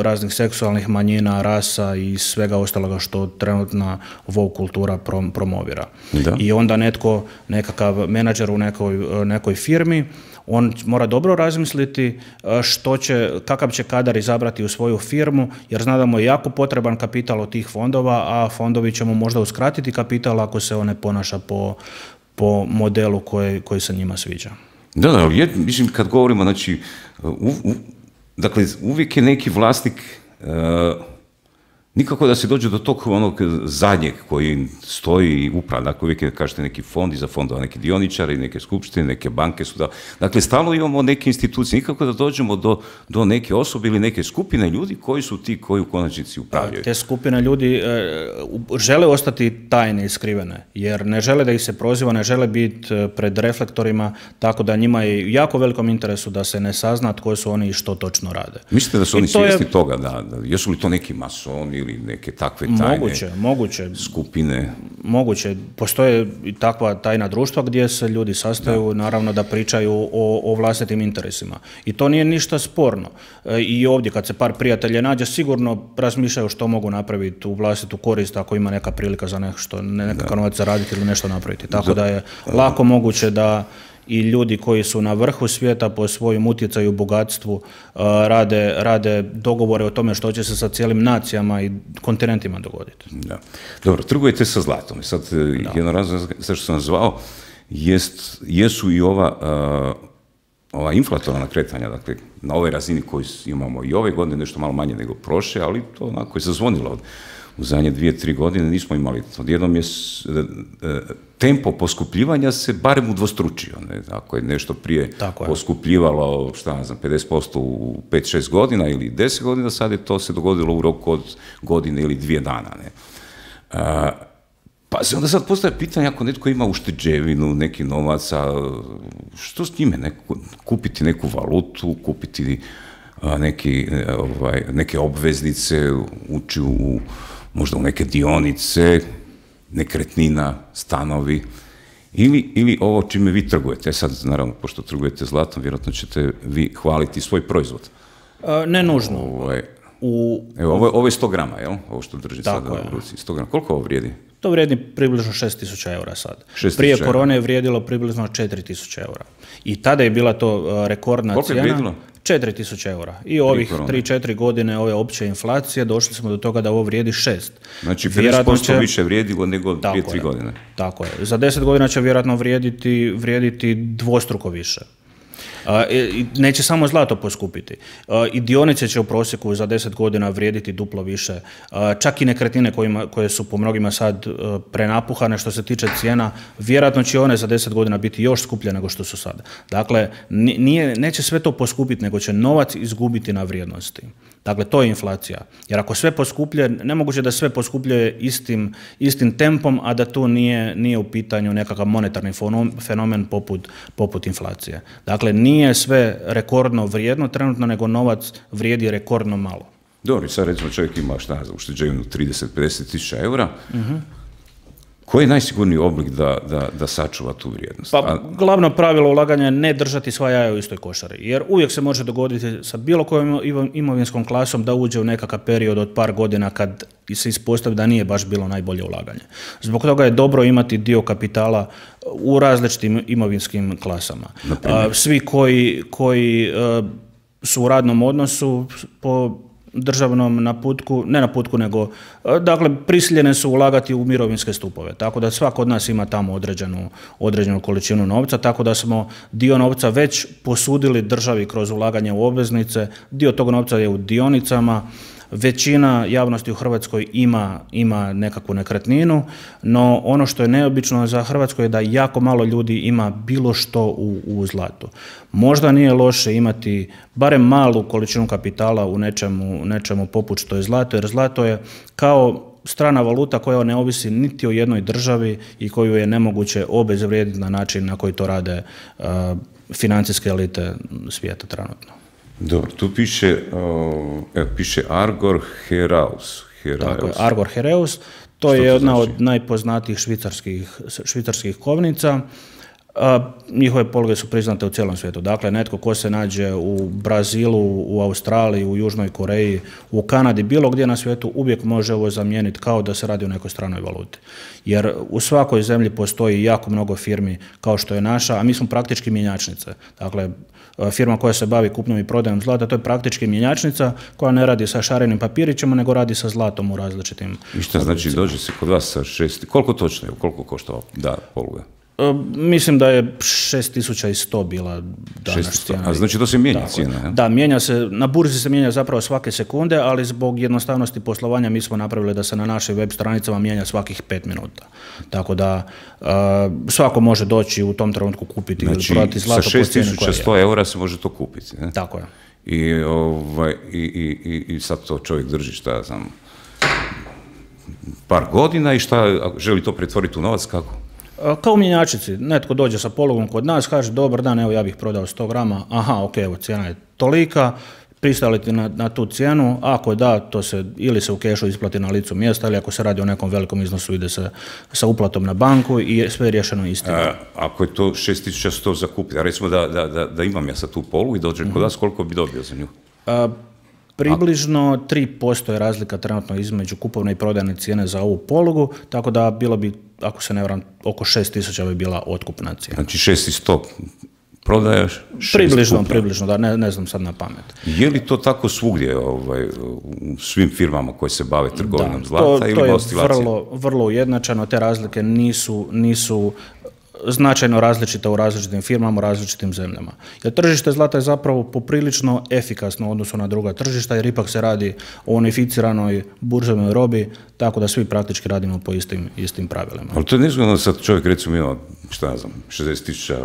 raznih seksualnih manjina, rasa i svega ostaloga što trenutna woke kultura promovira. Da. I onda netko, nekakav menadžer u nekoj, nekoj firmi, on mora dobro razmisliti što će, kakav će kadar izabrati u svoju firmu, jer zna da mu je jako potreban kapital od tih fondova, a fondovi će mu možda uskratiti kapital ako se on ne ponaša po, po modelu koji, koji se njima sviđa. Da, da, je, mislim, kad govorimo, znači, u, u, dakle, uvijek je neki vlasnik, uh, nikako da se dođe do tog onog zadnjeg koji stoji i uprava, dakle, uvijek je, kažete, neki fond, iza fondova neki dioničari, neke skupštine, neke banke su da, dakle, stalno imamo neke institucije, nikako da dođemo do, do neke osobe ili neke skupine ljudi koji su ti koji u konačnici upravljaju. Te skupine ljudi e, žele ostati tajne i skrivene, jer ne žele da ih se proziva, ne žele biti pred reflektorima, tako da njima je jako velikom interesu da se ne sazna tko su oni i što točno rade. Mislite da su oni svjesni je... toga, da, da, jesu li to neki masoni ili neke takve tajne moguće, moguće, skupine? Moguće. Postoje i takva tajna društva gdje se ljudi sastaju, da. Naravno da pričaju o, o vlastitim interesima. I to nije ništa sporno. E, I ovdje kad se par prijatelja nađe, sigurno razmišljaju što mogu napraviti u vlastitu korist ako ima neka prilika za nešto, nekakav novac zaraditi ili nešto napraviti. Tako da, da je lako moguće da i ljudi koji su na vrhu svijeta po svojim utjecaju i bogatstvu uh, rade, rade dogovore o tome što će se sa cijelim nacijama i kontinentima dogoditi. Da. Dobro, trgujete sa zlatom. Sad, da. Jedan razlog zašto sam zvao, jest, jesu i ova, uh, ova inflatorna kretanja, dakle, na ovoj razini koju imamo i ove godine, nešto malo manje nego prošle, ali to onako je zazvonilo od u zadnje dvije, tri godine nismo imali. Odjednom je tempo poskupljivanja se barem udvostručio. Ne? Ako je nešto prije je. poskupljivalo, šta ne znam, pedeset posto u pet šest godina ili deset godina, sad je to se dogodilo u roku od godine ili dvije dana. Ne? A, pa se onda sad postavlja pitanje, ako netko ima ušteđevinu, neki novaca, što s njime? Neko, kupiti neku valutu, kupiti a, neki, ovaj, neke obveznice, ući u možda u neke dionice, nekretnina, stanovi, ili, ili ovo čime vi trgujete. Sad, naravno, pošto trgujete zlatom, vjerojatno ćete vi hvaliti svoj proizvod. A, ne nužno. Ovo je, u, evo, ovo, ovo je sto grama, jel? Ovo što drži sada u ruci. sto grama. Koliko ovo vrijedi? To vrijedi približno šest tisuća eura sad. Prije korone je vrijedilo približno četiri tisuće eura. I tada je bila to rekordna Koliko cijena. Koliko je vrijedilo? četiri tisuće eura. I ovih tri četiri godine ove opće inflacije došli smo do toga da ovo vrijedi šest. Znači pedeset posto će, više vrijedilo nego dvije tri godine. Tako je. Za deset godina će vjerojatno vrijediti, vrijediti dvostruko više. Uh, i neće samo zlato poskupiti. Uh, I dionice će u prosjeku za deset godina vrijediti duplo više. Uh, čak i nekretnine kojima, koje su po mnogima sad uh, prenapuhane što se tiče cijena, vjerojatno će one za deset godina biti još skuplje nego što su sada. Dakle, nije, neće sve to poskupiti, nego će novac izgubiti na vrijednosti. Dakle, to je inflacija. Jer ako sve poskuplje, nemoguće da sve poskupljuje istim, istim tempom, a da tu nije, nije u pitanju nekakav monetarni fenomen poput, poput inflacije. Dakle, nije sve rekordno vrijedno trenutno, nego novac vrijedi rekordno malo. Dobro, sad recimo čovjek ima šta za ušteđevinu trideset do pedeset tisuća eura. Uh-huh. Koji je najsigurniji oblik da, da, da sačuva tu vrijednost? Pa, glavno pravilo ulaganja je ne držati sva jaja u istoj košari, jer uvijek se može dogoditi sa bilo kojom imovinskom klasom da uđe u nekakav period od par godina kad se ispostavi da nije baš bilo najbolje ulaganje. Zbog toga je dobro imati dio kapitala u različitim imovinskim klasama. Svi koji, koji su u radnom odnosu po državnom naputku, ne naputku nego, dakle, prisiljene su ulagati u mirovinske stupove, tako da svak od nas ima tamo određenu, određenu količinu novca, tako da smo dio novca već posudili državi kroz ulaganje u obveznice, dio tog novca je u dionicama. Većina javnosti u Hrvatskoj ima, ima nekakvu nekretninu, no ono što je neobično za Hrvatsku je da jako malo ljudi ima bilo što u, u zlatu. Možda nije loše imati barem malu količinu kapitala u nečemu, nečemu poput što je zlato, jer zlato je kao strana valuta koja ne ovisi niti o jednoj državi i koju je nemoguće obezvrijediti na način na koji to rade uh, financijske elite svijeta trenutno. Dobro, tu piše, uh, piše Argor Heraeus. Tako je, Argor Heraeus, to Što je jedna znači? od najpoznatijih švicarskih, švicarskih kovnica. A, njihove poluge su priznate u cijelom svijetu. Dakle, netko ko se nađe u Brazilu, u Australiji, u Južnoj Koreji, u Kanadi, bilo gdje na svijetu, uvijek može ovo zamijeniti kao da se radi o nekoj stranoj valuti. Jer u svakoj zemlji postoji jako mnogo firmi kao što je naša, a mi smo praktički mjenjačnice. Dakle, firma koja se bavi kupnjom i prodajom zlata, to je praktički mjenjačnica koja ne radi sa šarenim papirićima, nego radi sa zlatom u različitim... I šta znači, dođe se kod vas sa šest... Koliko točno je, koliko košta da poluga? Mislim da je šest tisuća sto bila danas cijena. A znači to se mijenja cijena? Ja? Da, mijenja se, na burzi se mijenja zapravo svake sekunde, ali zbog jednostavnosti poslovanja mi smo napravili da se na našim web stranicama mijenja svakih pet minuta. Tako da uh, svako može doći u tom trenutku kupiti znači, ili prodati zlato po cijeni koja je. Sa šest tisuća sto eura se može to kupiti. Ne? Tako je. I, ovaj, i, i, i sad to čovjek drži, šta ja znam, par godina i šta, želi to pretvoriti u novac, kako? Kao u mjenjačnici, netko dođe sa polugom kod nas, kaže dobar dan, evo ja bih prodao sto grama, aha, ok, evo cijena je tolika, pristajete na, na tu cijenu, ako da, to se ili se u kešu isplati na licu mjesta, ili ako se radi o nekom velikom iznosu ide se sa uplatom na banku i sve je riješeno istino. Ako je to šest tisuća sto za kupiti, a recimo da, da, da, da imam ja sad tu polugu i dođem mm-hmm. kod vas, koliko bi dobio za nju? A, Približno tri posto je razlika trenutno između kupovne i prodajne cijene za ovu polugu, tako da bilo bi, ako se ne varam, oko šest tisuća bi bila otkupna cijena. Znači šest tisuća sto prodajaš, šest Približno, kupna. približno, da, ne, ne znam sad na pamet. Je li to tako svugdje, ovaj, u svim firmama koje se bave trgovinom da, zlata to, ili to je oscilacije? vrlo, vrlo ujednačeno, te razlike nisu, nisu značajno različita u različitim firmama, u različitim zemljama. Jer tržište zlata je zapravo poprilično efikasno u odnosu na druga tržišta, jer ipak se radi o unificiranoj burzovnoj robi, tako da svi praktički radimo po istim, istim pravilima. Ali to je nezgodno sad čovjek recimo ima, šta ja znam, šezdeset tisuća,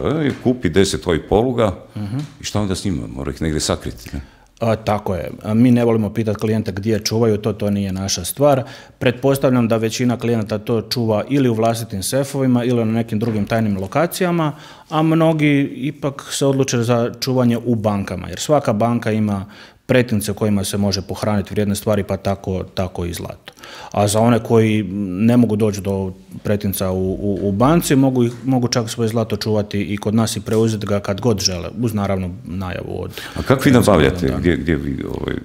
kupi deset ovih poluga uh-huh. i šta onda s njima? Mora ih negdje sakriti, ne? A, tako je. A mi ne volimo pitati klijente gdje čuvaju, to to nije naša stvar. Pretpostavljam da većina klijenata to čuva ili u vlastitim sefovima ili na nekim drugim tajnim lokacijama, a mnogi ipak se odluče za čuvanje u bankama, jer svaka banka ima pretince kojima se može pohraniti vrijedne stvari, pa tako, tako i zlato. A za one koji ne mogu doći do pretinca u, u, u banci, mogu, mogu čak svoje zlato čuvati i kod nas i preuzeti ga kad god žele, uz naravno najavu od... A kako vi nabavljate? Gdje, gdje vi ovaj,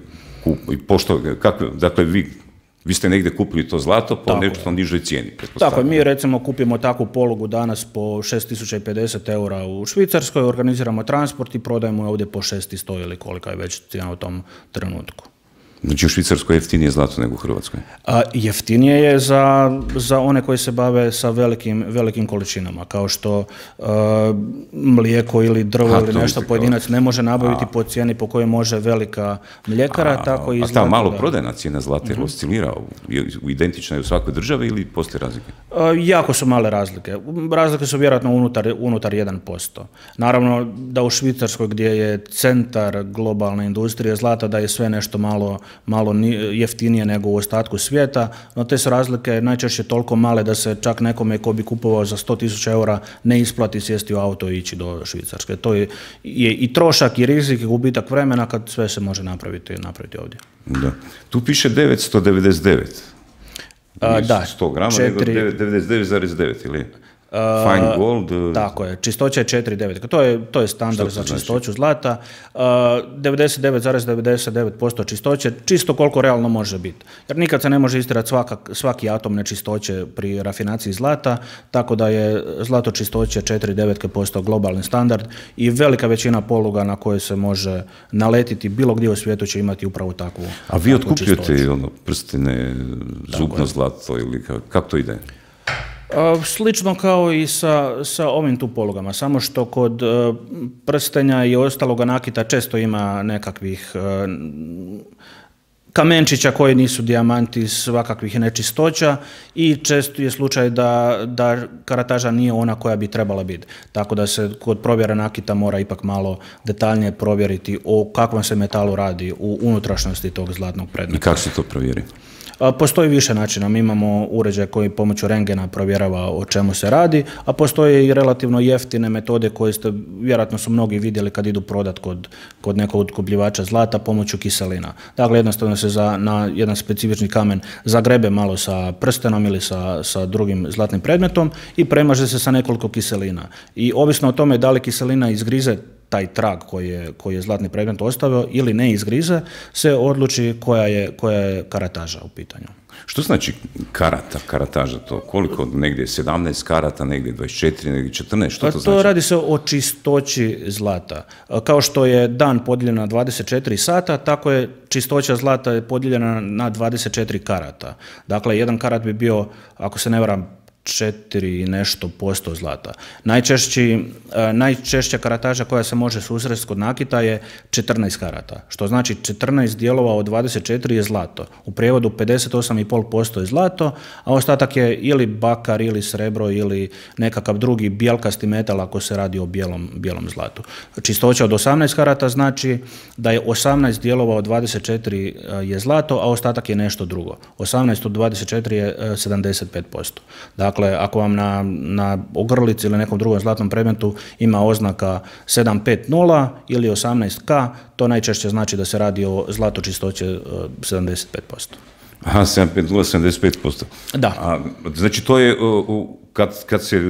kup, pošto, kako, dakle, vi, vi ste negdje kupili to zlato po nešto nižoj cijeni? Tako je, mi recimo kupimo takvu polugu danas po šest tisuća pedeset eura u Švicarskoj, organiziramo transport i prodajemo ovdje po šest sto ili kolika je već cijena u tom trenutku. Znači u Švicarskoj je jeftinije zlato nego u Hrvatskoj? A, jeftinije je za, za one koji se bave sa velikim, velikim količinama, kao što a, mlijeko ili drvo a, ili nešto pojedinac ne može nabaviti a. po cijeni po kojoj može velika mljekara, a, tako i zlato. A ta malo prodajna cijena zlata je oscilira u identičnoj u svakoj državi ili postoje razlike? A, jako su male razlike. Razlike su vjerojatno unutar, unutar jedan posto. Naravno da u Švicarskoj gdje je centar globalne industrije zlata da je sve nešto malo malo jeftinije nego u ostatku svijeta, no te su razlike najčešće toliko male da se čak nekome ko bi kupovao za sto tisuća eura ne isplati sjesti u auto i ići do Švicarske. To je, je i trošak i rizik i gubitak vremena kad sve se može napraviti, napraviti ovdje. Da. Tu piše devetsto devedeset devet. A, da, sto grama, četiri... nego devedeset devet zarez devet ili... Fine gold. Uh, tako je, čistoća je četiri zarez devet. To je, to je standard za čistoću znači? zlata. Uh, devedeset devet zarez devedeset devet posto čistoće, čisto koliko realno može biti. Jer nikad se ne može istirati svaka, svaki atom nečistoće pri rafinaciji zlata, tako da je zlato čistoće četiri zarez devet posto globalni standard i velika većina poluga na koje se može naletiti bilo gdje u svijetu će imati upravo takvu. A vi otkupljujete ono, prstine, zubno zlato ili kako to ide? Slično kao i sa, sa ovim tu polugama, samo što kod uh, prstenja i ostaloga nakita često ima nekakvih uh, kamenčića koji nisu dijamanti, svakakvih nečistoća i često je slučaj da, da karataža nije ona koja bi trebala biti. Tako da se kod provjera nakita mora ipak malo detaljnije provjeriti o kakvom se metalu radi u unutrašnjosti tog zlatnog predmeta. I kako se to provjeri? Postoji više načina, mi imamo uređaj koji pomoću rengena provjerava o čemu se radi, a postoje i relativno jeftine metode koje ste, vjerojatno su mnogi vidjeli kad idu prodat kod, kod nekog otkupljivača zlata pomoću kiselina. Dakle, jednostavno se za, na jedan specifični kamen zagrebe malo sa prstenom ili sa, sa drugim zlatnim predmetom i premaže se sa nekoliko kiselina. I ovisno o tome da li kiselina izgrize taj trag koji je, koji je zlatni predmet ostavio ili ne izgrize, se odluči koja je, koja je karataža u pitanju. Što znači karata, karataža to? Koliko? Negdje sedamnaest karata, negdje dvadeset četiri, negdje četrnaest? Što to, to znači? To radi se o čistoći zlata. Kao što je dan podijeljen na dvadeset četiri sata, tako je čistoća zlata podijeljena na dvadeset četiri karata. Dakle, jedan karat bi bio, ako se ne varam, četiri i nešto posto zlata. Najčešći, najčešća karataža koja se može susresti kod nakita je četrnaest karata, što znači četrnaest dijelova od dvadeset četiri je zlato. U prijevodu pedeset osam i pol posto je zlato, a ostatak je ili bakar, ili srebro, ili nekakav drugi bijelkasti metal ako se radi o bijelom, bijelom zlatu. Čistoća od osamnaest karata znači da je osamnaest dijelova od dvadeset četiri je zlato, a ostatak je nešto drugo. osamnaest od dvadeset četiri je sedamdeset pet posto. Dakle, Dakle, ako vam na, na ogrlici ili nekom drugom zlatnom predmetu ima oznaka sedam pet nula ili osamnaest ka, to najčešće znači da se radi o zlatu čistoće sedamdeset pet posto. Aha, sedam pet nula, sedamdeset pet posto. Da. A, znači to je, kad, kad, se,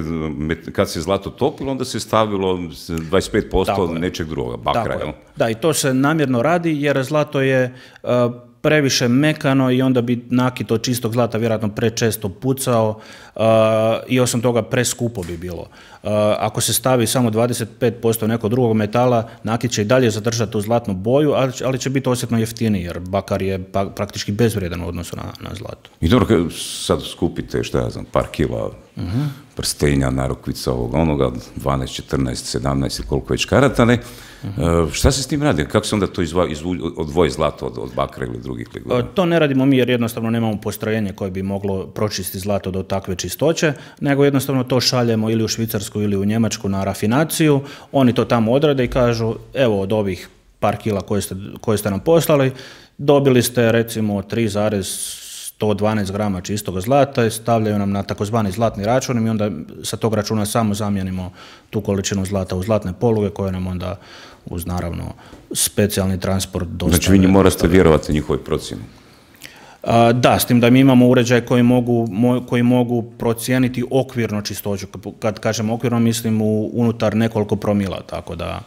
kad se zlato topilo, onda se stavilo dvadeset pet posto nečeg drugoga, bakra. Tako je. Da, i to se namjerno radi jer zlato je uh, previše mekano i onda bi nakit od čistog zlata vjerojatno prečesto pucao uh, i osim toga preskupo bi bilo. Uh, ako se stavi samo dvadeset pet posto nekog drugog metala, nakit će i dalje zadržati tu zlatnu boju, ali, ali će biti osjetno jeftiniji jer bakar je pa, praktički bezvrijedan u odnosu na, na zlato. I dobro, sad skupite, šta ja znam, par kila uh-huh. prstenja, narukvica, ovoga, onoga, dvanaest, četrnaest, sedamnaest i koliko već karata, ne? Uh-huh. Šta se s tim radi? Kako se onda to izva, izvu, odvoji zlato od, od bakra ili drugih ligova? To ne radimo mi jer jednostavno nemamo postrojenje koje bi moglo pročistiti zlato do takve čistoće, nego jednostavno to šaljemo ili u Švicarsku ili u Njemačku na rafinaciju, oni to tamo odrade i kažu evo od ovih par kila koje ste, koje ste nam poslali, dobili ste recimo tri zarez sto dvanaest grama čistog zlata i stavljaju nam na takozvani zlatni račun i mi onda sa tog računa samo zamijenimo tu količinu zlata u zlatne poluge koje nam onda uz naravno specijalni transport dostave. Znači vi morate vjerovati njihovoj procjeni? Da, s tim da mi imamo uređaj koji mogu, koji mogu procijeniti okvirno čistoću. Kad kažem okvirno mislim u, unutar nekoliko promila, tako da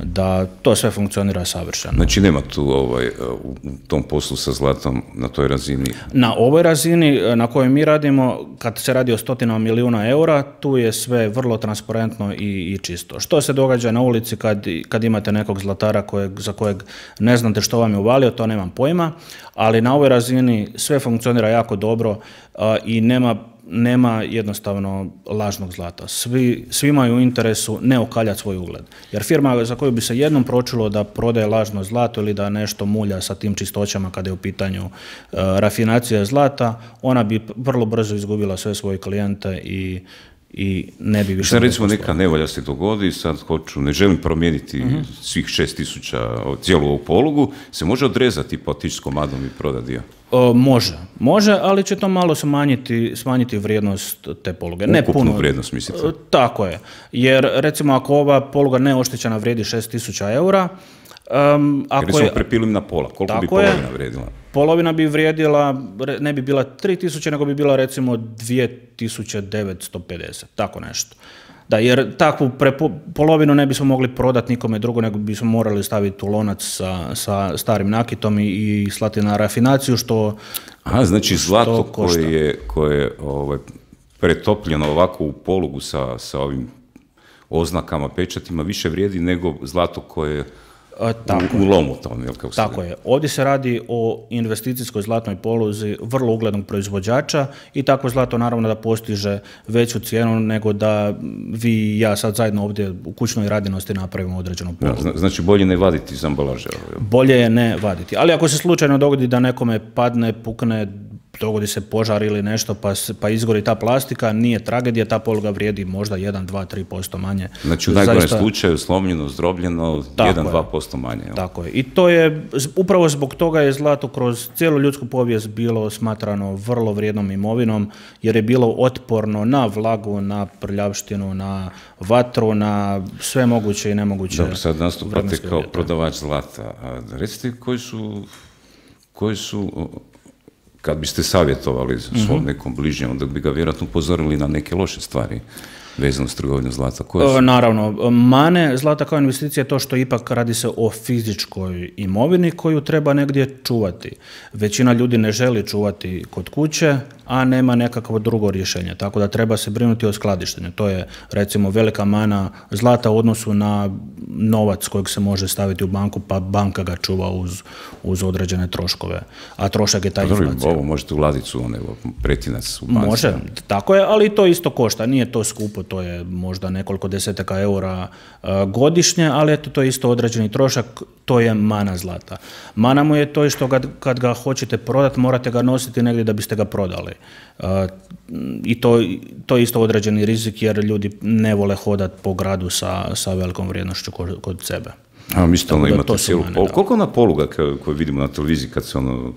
da to sve funkcionira savršeno. Znači nema tu ovaj, u tom poslu sa zlatom na toj razini? Na ovoj razini na kojoj mi radimo, kad se radi o stotinama milijuna eura, tu je sve vrlo transparentno i, i čisto. Što se događa na ulici kad, kad imate nekog zlatara kojeg, za kojeg ne znate što vam je uvalio, to nemam pojma, ali na ovoj razini sve funkcionira jako dobro uh, i nema nema jednostavno lažnog zlata. Svi, svi imaju u interesu ne okaljati svoj ugled. Jer firma za koju bi se jednom pročulo da prodaje lažno zlato ili da nešto mulja sa tim čistoćama kada je u pitanju uh, rafinacija zlata, ona bi vrlo brzo izgubila sve svoje klijente i i ne bi više... Sad recimo neka nevolja se dogodi, sad hoću, ne želim promijeniti uh-huh. svih šest tisuća, cijelu ovu polugu, se može odrezati pa otići s komadom i prodati dio? O, može, može, ali će to malo smanjiti, smanjiti vrijednost te poluge. Ne ukupnu puno, vrijednost, mislite? Tako je, jer recimo ako ova poluga neoštećena vrijedi šest tisuća eura, Um, ako Jer smo prepilili na pola, koliko bi polovina vrijedila? Polovina bi vrijedila, ne bi bila tri tisuće, nego bi bila recimo dvije tisuće devetsto pedeset, tako nešto. Da, jer takvu prepo, polovinu ne bismo mogli prodati nikome drugo, nego bismo morali staviti u lonac sa, sa starim nakitom i, i slati na rafinaciju, što Aha, znači zlato koje je, koje je ovaj, pretopljeno ovako u polugu sa, sa ovim oznakama, pečatima, više vrijedi nego zlato koje je Tako, u, u lomu tom, jel kako se Tako je. Ovdje se radi o investicijskoj zlatnoj poluzi vrlo uglednog proizvođača i takvo zlato naravno da postiže veću cijenu nego da vi i ja sad zajedno ovdje u kućnoj radinosti napravimo određenu polugu. Ja, znači bolje ne vaditi iz ambalaže? Bolje je ne vaditi. Ali ako se slučajno dogodi da nekome padne, pukne dogodi se požar ili nešto pa, pa izgori ta plastika, nije tragedija, ta poluga vrijedi možda jedan, dva, tri posto manje. Znači u najgorem Zaista... slučaju slomljeno, zdrobljeno, jedan, dva posto manje. Jel? Tako je. I to je, upravo zbog toga je zlato kroz cijelu ljudsku povijest bilo smatrano vrlo vrijednom imovinom, jer je bilo otporno na vlagu, na prljavštinu, na vatru, na sve moguće i nemoguće. Dobro, sad nastupate kao prodavač zlata. A recite koji su, koji su kad biste savjetovali svom nekom bližnjem, onda bi ga vjerojatno upozorili na neke loše stvari vezano s trgovinom zlata. Koje su? Naravno, mane zlata kao investicija je to što ipak radi se o fizičkoj imovini koju treba negdje čuvati. Većina ljudi ne želi čuvati kod kuće, a nema nekakvo drugo rješenje. Tako da treba se brinuti o skladištenju. To je recimo velika mana zlata u odnosu na novac kojeg se može staviti u banku, pa banka ga čuva uz, uz određene troškove. A trošak je ta inflacija. Ovo možete u ladicu, ono, pretinac u banci. Može, tako je, ali to isto košta. Nije to skupo, to je možda nekoliko desetaka eura uh, godišnje, ali eto, to je isto određeni trošak, to je mana zlata. Mana mu je to što ga, kad ga hoćete prodati, morate ga nositi negdje da biste ga prodali. Uh, I to, to je isto određeni rizik jer ljudi ne vole hodati po gradu sa, sa velikom vrijednošću kod, kod sebe. A mi što ono imate cijelu polugu. Koliko ona poluga koju vidimo na televiziji kad se ono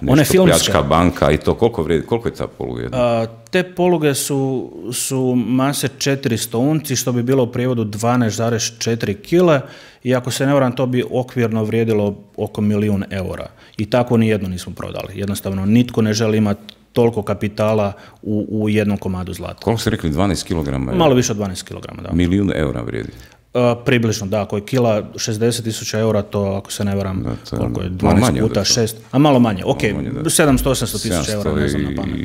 nešto pljačka banka i to, koliko, vrijedi, koliko je ta poluga jedna? A, te poluge su, su mase četiristo unci, što bi bilo u prijevodu dvanaest zarez četiri kile i ako se ne varam, to bi okvirno vrijedilo oko milijun eura. I tako ni jedno nismo prodali. Jednostavno, nitko ne želi imati toliko kapitala u, u jednom komadu zlata. Koliko ste rekli, dvanaest kilograma? Malo više od dvanaest kilograma, da. Milijun eura vrijedi? Uh, približno, da, ako je kila šezdeset tisuća eura, to ako se ne varam, da, to, koliko je dvanaest puta šest, a malo manje, ok, manje, sedamsto osamsto tisuća eura, ne znam na pamet.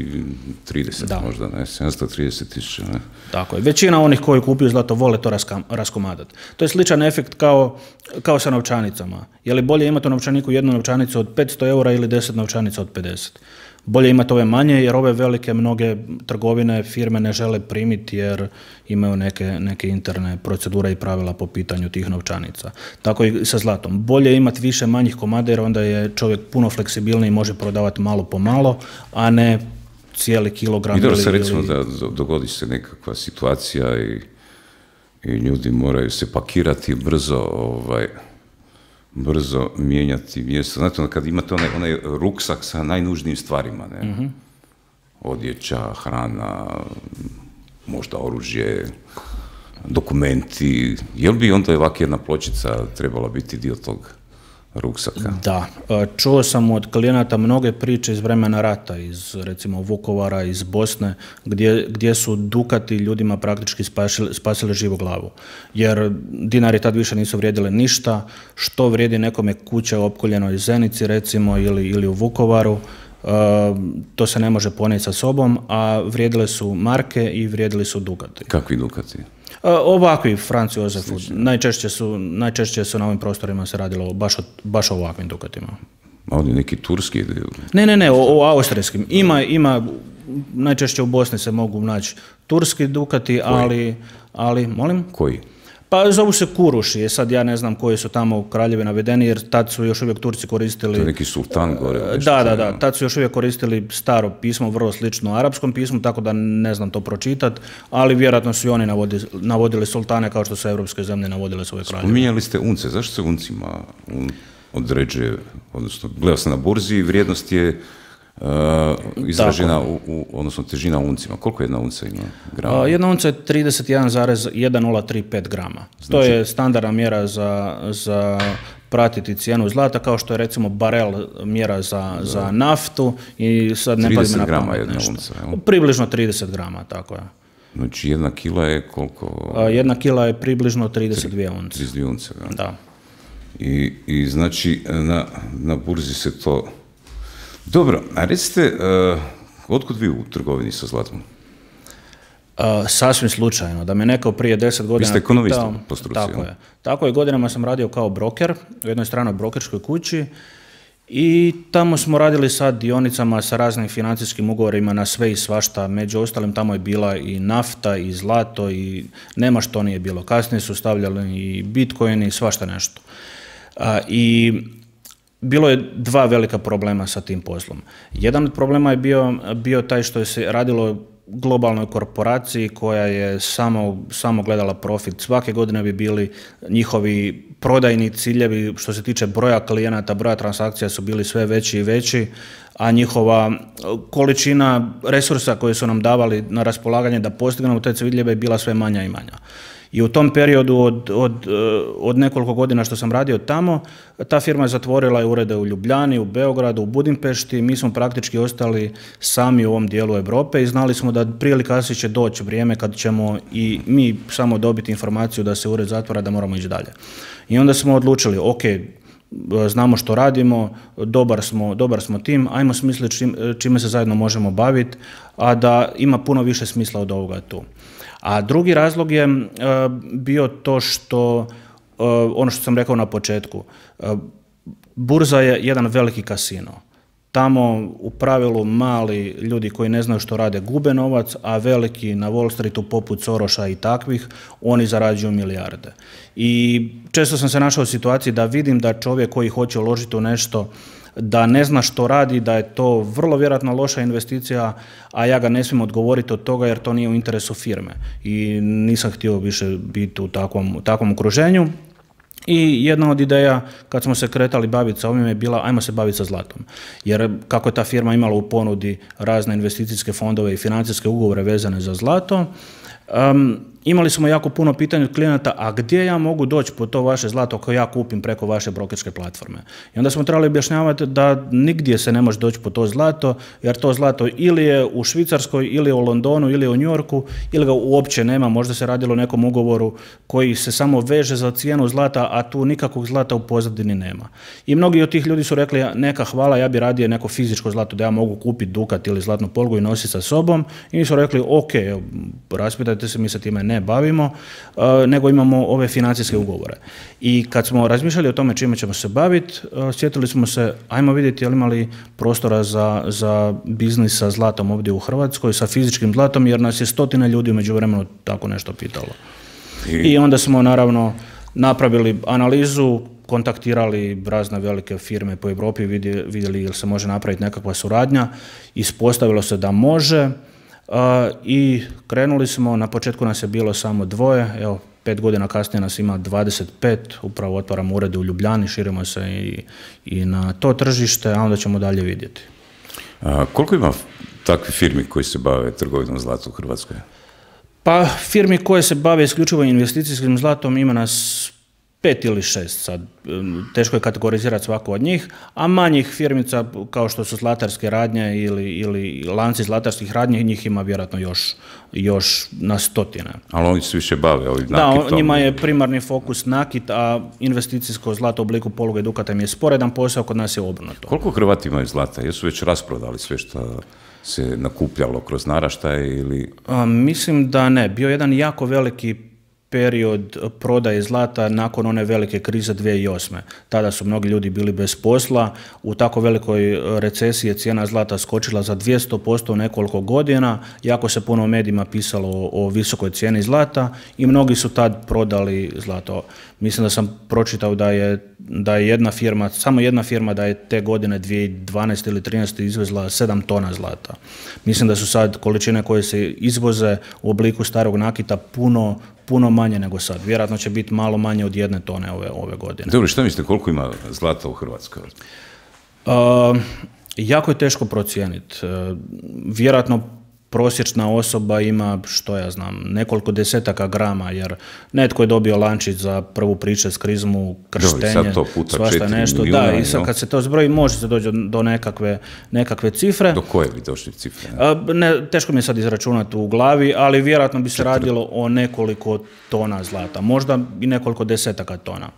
trideset da. Možda, ne, sedamsto trideset tisuća, ne. Tako je, većina onih koji kupuju zlato vole to raskam, raskomadati. To je sličan efekt kao, kao sa novčanicama. Je li bolje imati u novčaniku jednu novčanicu od petsto eura ili deset novčanica od pedeset? Bolje imati ove manje jer ove velike mnoge trgovine, firme ne žele primiti jer imaju neke, neke interne procedure i pravila po pitanju tih novčanica. Tako i sa zlatom. Bolje imati više manjih komada jer onda je čovjek puno fleksibilniji i može prodavati malo po malo, a ne cijeli kilogram. I dobro se recimo da dogodi se nekakva situacija i, i ljudi moraju se pakirati brzo, ovaj, brzo mijenjati mjesto. Znate, kad imate onaj, onaj ruksak sa najnužnijim stvarima, ne? Mm-hmm. Odjeća, hrana, možda oružje, dokumenti, je li bi onda ovak jedna pločica trebala biti dio tog ruksaka? Da, čuo sam od klijenata mnoge priče iz vremena rata, iz recimo Vukovara, iz Bosne, gdje, gdje su dukati ljudima praktički spasili, spasili živu glavu. Jer dinari tad više nisu vrijedile ništa, što vrijedi nekome kuća u opkoljenoj Zenici recimo ili, ili u Vukovaru, uh, to se ne može ponijeti sa sobom, a vrijedile su marke i vrijedili su dukati. Kakvi dukati? Ovakvi, Franz Josefu, najčešće su, najčešće su na ovim prostorima se radilo baš o, baš o ovakvim dukatima. A oni neki turski? Ne, ne, ne, o, o austrijskim. Ima, ima, najčešće u Bosni se mogu naći turski dukati, ali, ali, molim? Koji? Pa zovu se kuruši, sad ja ne znam koji su tamo u kraljevi navedeni, jer tad su još uvijek Turci koristili... To je neki sultan gore. Da, da, da, tad su još uvijek koristili staro pismo, vrlo slično arapskom pismu, tako da ne znam to pročitati, ali vjerojatno su i oni navodili, navodili sultane kao što su evropske zemlje navodile svoje kraljeve. Spominjali ste unce, zašto se uncima un određuje, odnosno gledao sam na burzi, vrijednost je Uh, izražena, u, u, odnosno težina uncima. Koliko jedna unca ima grama? Uh, jedna unca je trideset jedan zarez jedan nula tri pet grama. Znači, to je standardna mjera za, za pratiti cijenu zlata, kao što je recimo barel mjera za, za naftu i sad ne padim na pamet nešto. Unca, približno trideset grama, tako je. Znači jedna kila je koliko? Uh, jedna kila je približno trideset dvije unce. trideset dvije unce, da. Da. I, i znači na, na burzi se to... Dobro, a recite, uh, otkud vi u trgovini sa zlatom? Uh, sasvim slučajno, da me neko prije deset godina... Vi ste ekonomista po struci. Tako je. Tako je, godinama sam radio kao broker u jednoj stranoj brokerskoj kući i tamo smo radili sa dionicama, sa raznim financijskim ugovorima na sve i svašta. Među ostalim tamo je bila i nafta i zlato i nema što nije bilo. Kasnije su stavljali i bitcoin i svašta nešto. Uh, I... bilo je dva velika problema sa tim poslom. Jedan od problema je bio, bio taj što se radilo globalnoj korporaciji koja je samo, samo gledala profit. Svake godine bi bili njihovi prodajni ciljevi što se tiče broja klijenata, broja transakcija su bili sve veći i veći, a njihova količina resursa koje su nam davali na raspolaganje da postignemo te ciljeve je bila sve manja i manja. I u tom periodu od, od, od nekoliko godina što sam radio tamo, ta firma je zatvorila urede u Ljubljani, u Beogradu, u Budimpešti, mi smo praktički ostali sami u ovom dijelu Europe i znali smo da prije ili kasnije će doći vrijeme kad ćemo i mi samo dobiti informaciju da se ured zatvara, da moramo ići dalje. I onda smo odlučili, ok, znamo što radimo, dobar smo, dobar smo tim, ajmo smisliti čim, čime se zajedno možemo baviti, a da ima puno više smisla od ovoga tu. A drugi razlog je uh, bio to što, uh, ono što sam rekao na početku, uh, burza je jedan veliki kasino. Tamo u pravilu mali ljudi koji ne znaju što rade gube novac, a veliki na Wall Streetu poput Soroša i takvih, oni zarađuju milijarde. I često sam se našao u situaciji da vidim da čovjek koji hoće uložiti u nešto da ne zna što radi, da je to vrlo vjerojatno loša investicija, a ja ga ne smijem odgovoriti od toga jer to nije u interesu firme. I nisam htio više biti u takvom, u takvom okruženju. I jedna od ideja kad smo se kretali baviti sa ovim je bila ajmo se baviti sa zlatom. Jer kako je ta firma imala u ponudi razne investicijske fondove i financijske ugovore vezane za zlato, um, imali smo jako puno pitanja od klijenata, a gdje ja mogu doći po to vaše zlato koje ja kupim preko vaše brokerske platforme. I onda smo trebali objašnjavati da nigdje se ne može doći po to zlato, jer to zlato ili je u Švicarskoj, ili je u Londonu, ili je u New Yorku, ili ga uopće nema, možda se radilo o nekom ugovoru koji se samo veže za cijenu zlata, a tu nikakvog zlata u pozadini nema. I mnogi od tih ljudi su rekli, neka hvala, ja bi radije neko fizičko zlato da ja mogu kupiti dukat ili zlatnu polugu i nositi sa sobom. I mi su rekli, ok, raspitajte se, mi se time ne bavimo, uh, nego imamo ove financijske ugovore. I kad smo razmišljali o tome čime ćemo se baviti, uh, sjetili smo se, ajmo vidjeti je li imali prostora za, za biznis sa zlatom ovdje u Hrvatskoj, sa fizičkim zlatom, jer nas je stotine ljudi u međuvremenu tako nešto pitalo. I, I onda smo naravno napravili analizu, kontaktirali razne velike firme po Europi, vidjeli, vidjeli ili se može napraviti nekakva suradnja, ispostavilo se da može. Uh, i krenuli smo, na početku nas je bilo samo dvoje, evo, pet godina kasnije nas ima dvadeset pet, upravo otvaramo urede u Ljubljani, širimo se i, i na to tržište, a onda ćemo dalje vidjeti. A koliko ima takvih firmi koji se bave trgovinom zlata u Hrvatskoj? Pa firmi koje se bave isključivo investicijskim zlatom ima nas pet ili šest sad, teško je kategorizirati svaku od njih, a manjih firmica kao što su zlatarske radnje ili, ili lanci zlatarskih radnji, njih ima vjerojatno još, još na stotine. Ali oni se više bave ovim nakitom. Da, njima je primarni fokus nakit, a investicijsko zlato u obliku poluge i dukata im je sporedan posao, kod nas je obrnuto. Koliko Hrvati imaju zlata? Jesu već rasprodali sve što se nakupljalo kroz naraštaje ili... A, mislim da ne. Bio jedan jako veliki period prodaje zlata nakon one velike krize dvije tisuće osme. Tada su mnogi ljudi bili bez posla, u tako velikoj recesiji je cijena zlata skočila za dvjesto posto u nekoliko godina, jako se puno u medijima pisalo o, o visokoj cijeni zlata i mnogi su tad prodali zlato. Mislim da sam pročitao da je, da je jedna firma, samo jedna firma da je te godine dvije tisuće dvanaeste ili trinaeste izvezla sedam tona zlata. Mislim da su sad količine koje se izvoze u obliku starog nakita puno puno manje nego sad. Vjerojatno će biti malo manje od jedne tone ove, ove godine. Dobro, što mislite, koliko ima zlata u Hrvatskoj? Uh, jako je teško procijeniti. Uh, vjerojatno prosječna osoba ima, što ja znam, nekoliko desetaka grama, jer netko je dobio lančić za prvu pričest, krizmu, krštenje, svašta nešto. Milijuna, da, i sad kad se to zbroji, može se doći do nekakve, nekakve cifre. Do koje bi došli cifre? Ne? Ne, teško mi je sad izračunati u glavi, ali vjerojatno bi se Četiri. radilo o nekoliko tona zlata, možda i nekoliko desetaka tona.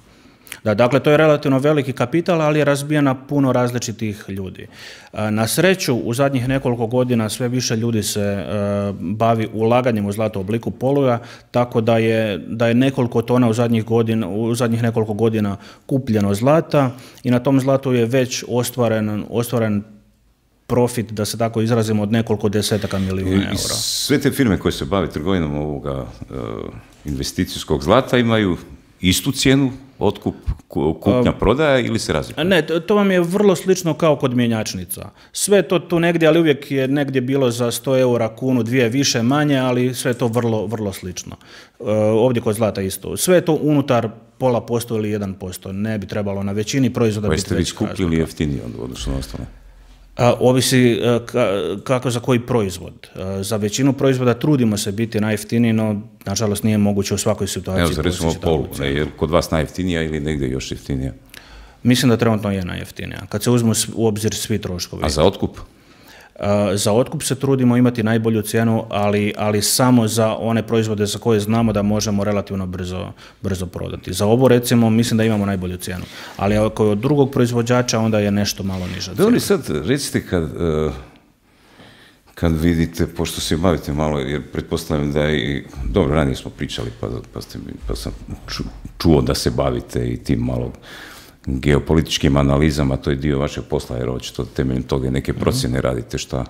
Da, dakle, to je relativno veliki kapital, ali je razbijan na puno različitih ljudi. Na sreću, u zadnjih nekoliko godina sve više ljudi se uh, bavi ulaganjem u zlato u obliku poluga, tako da je, da je nekoliko tona u zadnjih, godina, u zadnjih nekoliko godina kupljeno zlata i na tom zlatu je već ostvaren, ostvaren profit, da se tako izrazimo, od nekoliko desetaka milijuna eura. Sve te firme koje se bave trgovinom ovoga uh, investicijskog zlata imaju istu cijenu otkup, kupnja, prodaja ili se razlikuje? Ne, to vam je vrlo slično kao kod mjenjačnica. Sve to tu negdje, ali uvijek je negdje bilo za sto eura, kunu, dvije više, manje, ali sve je to vrlo, vrlo slično. Ovdje kod zlata isto. Sve je to unutar pola posto ili jedan posto. Ne bi trebalo na većini proizvoda biti veći. Pa jeste vi skuplji ili jeftiniji od odnosno na ostale? Ovisi kako za koji proizvod. Za većinu proizvoda trudimo se biti najjeftiniji, no nažalost nije moguće u svakoj situaciji. Evo, za recimo polu, ne, je kod vas najjeftinija ili negdje još jeftinija? Mislim da trenutno je najjeftinija, kad se uzmu u obzir svi troškovi. A za otkup? Za otkup se trudimo imati najbolju cijenu, ali, ali samo za one proizvode za koje znamo da možemo relativno brzo, brzo prodati. Za ovo recimo mislim da imamo najbolju cijenu, ali ako je od drugog proizvođača onda je nešto malo niža cijena. Dobro, sad recite kad, kad vidite, pošto se bavite malo, jer pretpostavljam da i, dobro, ranije smo pričali pa, pa, ste, pa sam čuo da se bavite i tim malo geopolitičkim analizama, to je dio vašeg posla, jer očito temeljem toga neke procjene radite šta,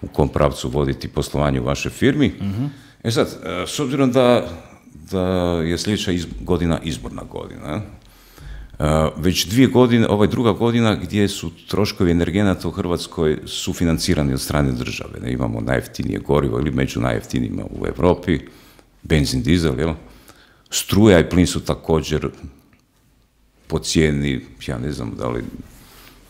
u kom pravcu voditi poslovanje u vašoj firmi. Uh-huh. E sad, s obzirom da, da je sljedeća iz, godina izborna godina, već dvije godine, ovaj druga godina gdje su troškovi energenata u Hrvatskoj sufinancirani od strane države. Ne, imamo najjeftinije gorivo ili među najjeftinijima u Europi, benzin, dizel, jel? Struja i plin su također po cijeni, ja ne znam da li,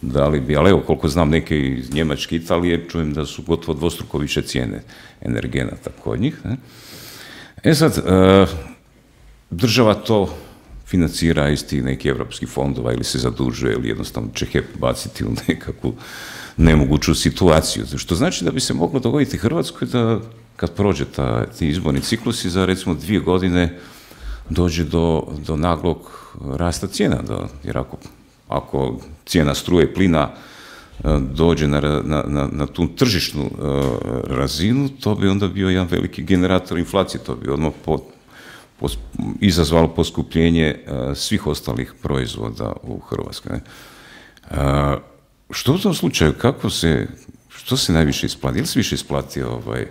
da li bi, ali evo koliko znam neke iz Njemačke, Italije, čujem da su gotovo dvostruko više cijene energenata kod njih. Ne? E sad, e, država to financira iz tih nekih evropskih fondova ili se zadužuje ili jednostavno će H E P baciti u nekakvu nemoguću situaciju. Što znači da bi se moglo dogoditi Hrvatskoj da kad prođe ta, ti izborni ciklusi za recimo dvije godine dođe do, do naglog rasta cijena, da, jer ako, ako cijena struje i plina dođe na, na, na, na tu tržišnu uh, razinu, to bi onda bio jedan veliki generator inflacije, to bi odmah po, po, izazvalo poskupljenje uh, svih ostalih proizvoda u Hrvatskoj. Ne? Uh, što u tom slučaju, kako se, što se najviše isplati? Ili se više isplati ovaj,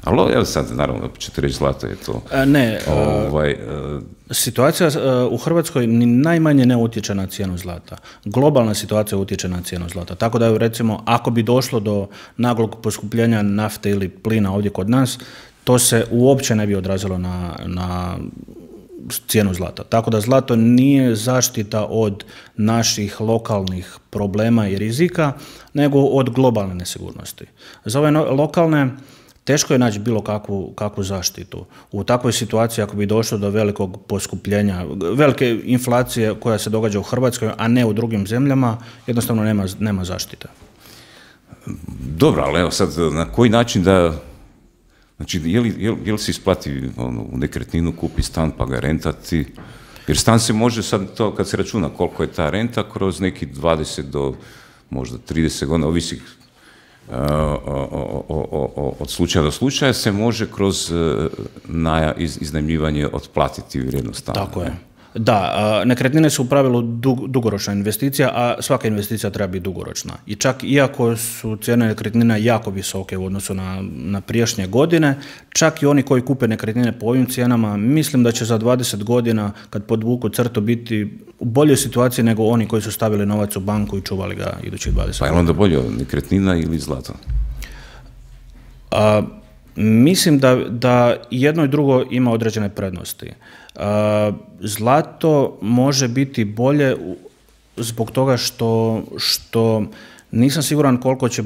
ali evo sad, naravno, ćete reći zlato je to. A ne, ovaj, uh, situacija uh, u Hrvatskoj ni najmanje ne utječe na cijenu zlata. Globalna situacija utječe na cijenu zlata. Tako da, recimo, ako bi došlo do naglog poskupljenja nafte ili plina ovdje kod nas, to se uopće ne bi odrazilo na, na cijenu zlata. Tako da zlato nije zaštita od naših lokalnih problema i rizika, nego od globalne nesigurnosti. Za ove no, lokalne teško je naći bilo kakvu, kakvu zaštitu. U takvoj situaciji, ako bi došlo do velikog poskupljenja, velike inflacije koja se događa u Hrvatskoj, a ne u drugim zemljama, jednostavno nema, nema zaštite. Dobro, ali evo sad, na koji način da, znači, je li, je li, je li se isplati ono, u nekretninu, kupi stan pa ga rentati? Jer stan se može sad, to kad se računa koliko je ta renta, kroz neki dvadeset do možda trideset godina, ovisi Uh, o, o, o, od slučaja do slučaja se može kroz uh, naja, iz, iznajmljivanje otplatiti vrijednost stana. Tako je. Da, nekretnine su u pravilu dug, dugoročna investicija, a svaka investicija treba biti dugoročna. I čak iako su cijene nekretnina jako visoke u odnosu na, na prijašnje godine, čak i oni koji kupe nekretnine po ovim cijenama, mislim da će za dvadeset godina, kad podvuku crtu, biti u boljoj situaciji nego oni koji su stavili novac u banku i čuvali ga idućih dvadeset godina. Pa je onda bolje nekretnina ili zlato? A, mislim da, da jedno i drugo ima određene prednosti. Uh, zlato može biti bolje zbog toga što, što nisam siguran koliko će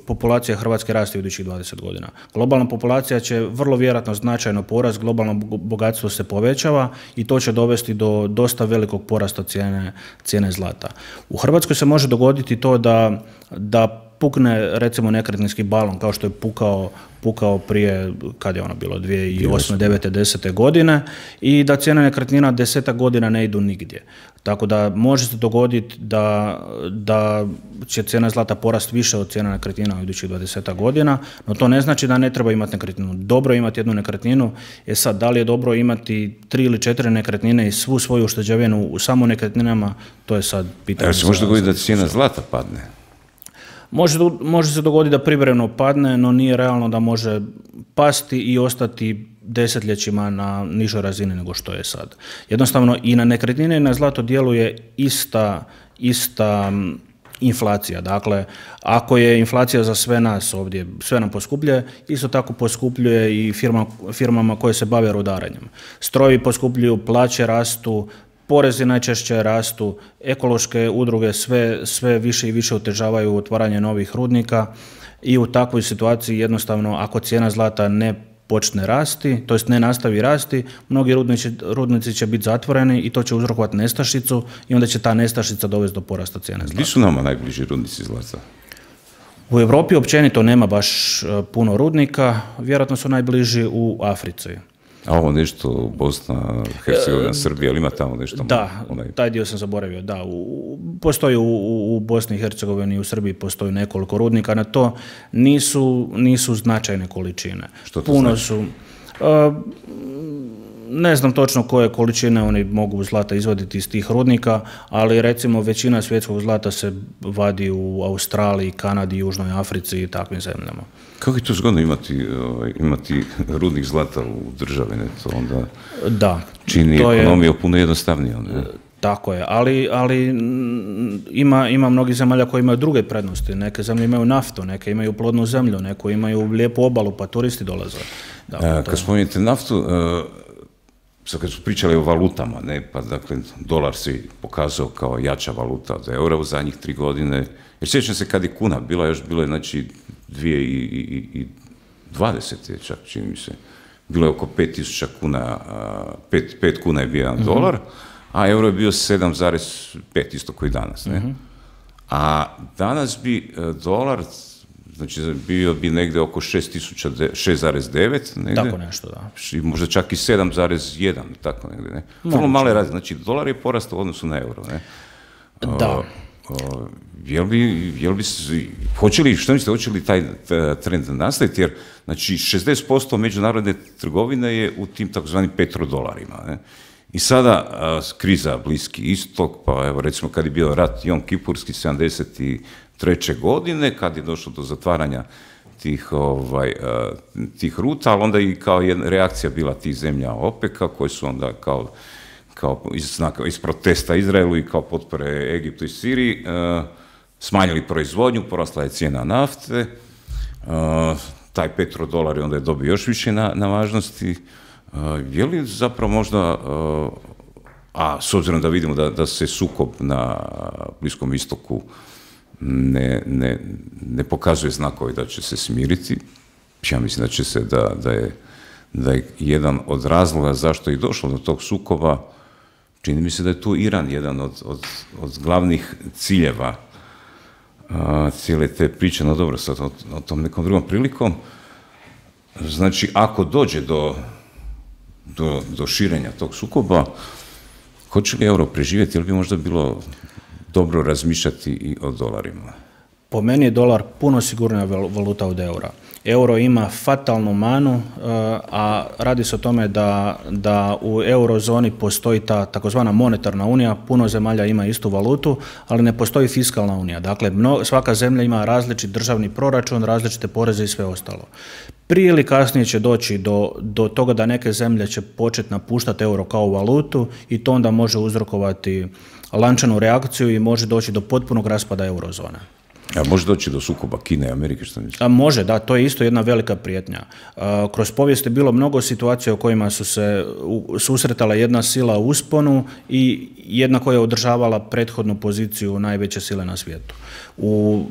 populacija Hrvatske rasti u idućih dvadeset godina. Globalna populacija će vrlo vjerojatno značajno porast, globalno bogatstvo se povećava i to će dovesti do dosta velikog porasta cijene, cijene zlata. U Hrvatskoj se može dogoditi to da, da pukne recimo nekretninski balon kao što je pukao, pukao prije, kad je ono bilo, dvije tisuće osme, devete, desete godine i da cijene nekretnina desetak godina ne idu nigdje. Tako da može se dogoditi da, da će cijena zlata porast više od cijena nekretnina u idućih dvadesetak godina, no to ne znači da ne treba imati nekretninu. Dobro je imati jednu nekretninu, je sad da li je dobro imati tri ili četiri nekretnine i svu svoju ušteđevinu u samo nekretninama, to je sad pitanje. Evo se može dogoditi da cijena zlata padne? Može, može se dogoditi da privremeno padne, no nije realno da može pasti i ostati desetljećima na nižoj razini nego što je sad. Jednostavno i na nekretnine i na zlato djeluje ista, ista inflacija. Dakle, ako je inflacija za sve nas ovdje, sve nam poskupljuje, isto tako poskupljuje i firma, firmama koje se bave rudarenjem. Strojevi poskupljuju, plaće rastu, porezi najčešće rastu, ekološke udruge sve, sve više i više otežavaju otvaranje novih rudnika i u takvoj situaciji jednostavno ako cijena zlata ne počne rasti, to jest ne nastavi rasti, mnogi rudnici, rudnici će biti zatvoreni i to će uzrokovati nestašicu i onda će ta nestašica dovesti do porasta cijene zlata. Gdje su nama najbliži rudnici zlata? U Europi općenito nema baš puno rudnika, vjerojatno su najbliži u Africi. A ovo nešto Bosna, Hercegovina, Srbija, ali ima tamo nešto? Da, onaj... taj dio sam zaboravio, da. U, postoji u, u Bosni i Hercegovini i u Srbiji postoji nekoliko rudnika, na to nisu, nisu značajne količine. Što to Puno znači? su... Uh, ne znam točno koje količine oni mogu zlata izvaditi iz tih rudnika, ali recimo većina svjetskog zlata se vadi u Australiji, Kanadi, Južnoj Africi i takvim zemljama. Kako je to zgodno imati, ovaj, imati rudnik zlata u državi, ne? To onda da, čini to ekonomiju je, puno jednostavnije. Ne? Tako je, ali, ali ima, ima mnogi zemalja koji imaju druge prednosti. Neke zemlje imaju naftu, neke imaju plodnu zemlju, neko imaju lijepu obalu, pa turisti dolaze. Dakle, A, kad spominjete naftu, uh, sad kad su pričali o valutama, ne, pa dakle dolar se pokazao kao jača valuta od eura u zadnjih tri godine, jer sjećam se kad je kuna bila, još bilo je znači dvije i dvadeset je čak, čini mi se, bilo je oko pet tisuća kuna, pet, pet kuna je bio jedan mm-hmm. dolar, a euro je bio sedam zarez pet, isto koji danas, ne? Mm-hmm. A danas bi dolar, znači bio bi negdje oko šest zarez devet, tako nešto, da. Možda čak i sedam zarez jedan, tako negdje, ne? Vrlo male razine, znači dolar je porastao u odnosu na euro, ne? Da. O, o, jel bi, jel bi, hoće li, što mislite, hoće li taj trend nastaviti, jer znači šezdeset posto međunarodne trgovine je u tim takozvanim petrodolarima, ne? I sada a, kriza Bliski istok, pa evo recimo kad je bio rat Jom Kipurski sedamdeset treće godine, kad je došlo do zatvaranja tih, ovaj, a, tih ruta, ali onda i kao jedna reakcija bila tih zemlja OPEC-a, koje su onda kao, kao iz, iz protesta Izraelu i kao potpore Egiptu i Siriji a, smanjili proizvodnju, porasla je cijena nafte, a, taj petrodolar je onda je dobio još više na, na važnosti. Uh, je li zapravo možda, uh, a s obzirom da vidimo da, da se sukob na Bliskom istoku ne, ne, ne pokazuje znakovi da će se smiriti, ja mislim da će se, da, da, je, da je jedan od razloga zašto je došlo do tog sukoba, čini mi se da je tu Iran jedan od, od, od glavnih ciljeva uh, cijele te priče, no dobro, sad o, o tom nekom drugom prilikom. Znači, ako dođe do Do, do širenja tog sukoba, hoće li euro preživjeti ili bi možda bilo dobro razmišljati i o dolarima? Po meni je dolar puno sigurnija valuta od eura. Euro ima fatalnu manu, a radi se o tome da, da u eurozoni postoji ta takozvana monetarna unija, puno zemalja ima istu valutu, ali ne postoji fiskalna unija. Dakle, mno, svaka zemlja ima različit državni proračun, različite poreze i sve ostalo. Prije ili kasnije će doći do, do toga da neke zemlje će početi napuštati euro kao valutu i to onda može uzrokovati lančanu reakciju i može doći do potpunog raspada eurozone. A može doći do sukoba Kine i Amerike, što mislite? A može, da, to je isto jedna velika prijetnja. A, kroz povijest je bilo mnogo situacija u kojima su se u, susretala jedna sila u usponu i jedna koja je održavala prethodnu poziciju najveće sile na svijetu. U,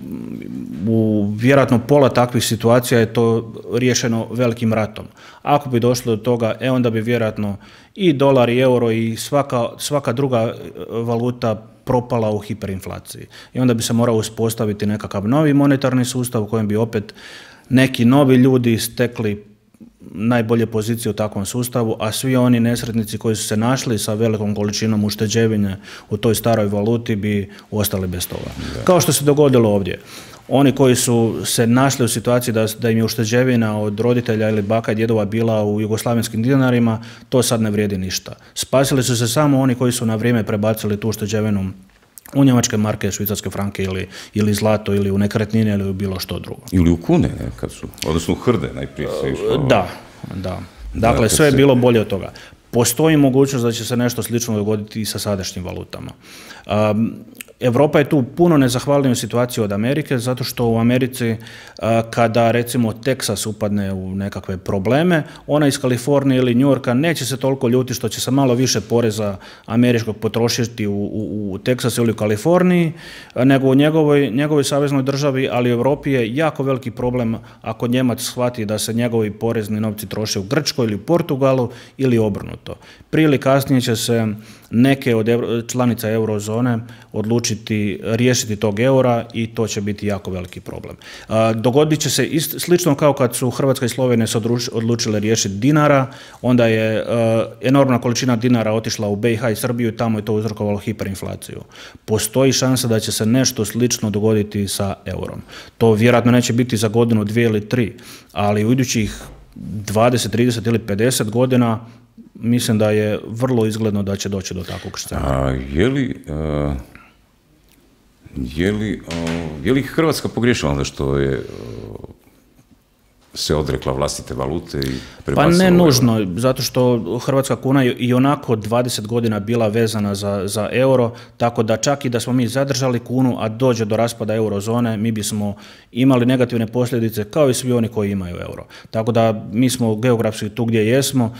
u vjerojatno pola takvih situacija je to riješeno velikim ratom. Ako bi došlo do toga, e onda bi vjerojatno i dolar i euro i svaka, svaka druga valuta propala u hiperinflaciji. I onda bi se morao uspostaviti nekakav novi monetarni sustav u kojem bi opet neki novi ljudi stekli najbolje pozicije u takvom sustavu, a svi oni nesretnici koji su se našli sa velikom količinom ušteđevine u toj staroj valuti bi ostali bez toga. Da. Kao što se dogodilo ovdje. Oni koji su se našli u situaciji da, da im je ušteđevina od roditelja ili baka i djedova bila u jugoslavenskim dinarima, to sad ne vrijedi ništa. Spasili su se samo oni koji su na vrijeme prebacili tu ušteđevinu u njemačke marke, švicarske franke ili, ili zlato ili u nekretnine ili u bilo što drugo. Ili u kune, ne, kad su, odnosno u hrde najprije se išlo. Da, da. Dakle, sve je bilo bolje od toga. Postoji mogućnost da će se nešto slično dogoditi i sa sadašnjim valutama. Um, Europa je tu puno nezahvalniju situaciju od Amerike, zato što u Americi kada recimo Teksas upadne u nekakve probleme, ona iz Kalifornije ili New Yorka neće se toliko ljuti što će se malo više poreza američkog potrošiti u, u, u Teksasu ili u Kaliforniji, nego u njegovoj, njegovoj saveznoj državi, ali u Europi je jako veliki problem ako Njemac shvati da se njegovi porezni novci troše u Grčkoj ili u Portugalu ili obrnuto. Prije ili kasnije će se neke od članica eurozone odlučiti riješiti tog eura i to će biti jako veliki problem. Dogodit će se ist, slično kao kad su Hrvatska i Slovenija se odlučile riješiti dinara, onda je enormna količina dinara otišla u B i H i Srbiju i tamo je to uzrokovalo hiperinflaciju. Postoji šansa da će se nešto slično dogoditi sa eurom. To vjerojatno neće biti za godinu, dvije ili tri, ali u idućih dvadeset, trideset ili pedeset godina mislim da je vrlo izgledno da će doći do takvog scenarija. A je li, uh, je li, uh, je li Hrvatska pogriješila onda što je uh, se odrekla vlastite valute i prebacila? Pa ne nužno, zato što hrvatska kuna je i onako dvadeset godina bila vezana za, za euro, tako da čak i da smo mi zadržali kunu, a dođe do raspada eurozone, mi bismo imali negativne posljedice kao i svi oni koji imaju euro. Tako da mi smo geografski tu gdje jesmo,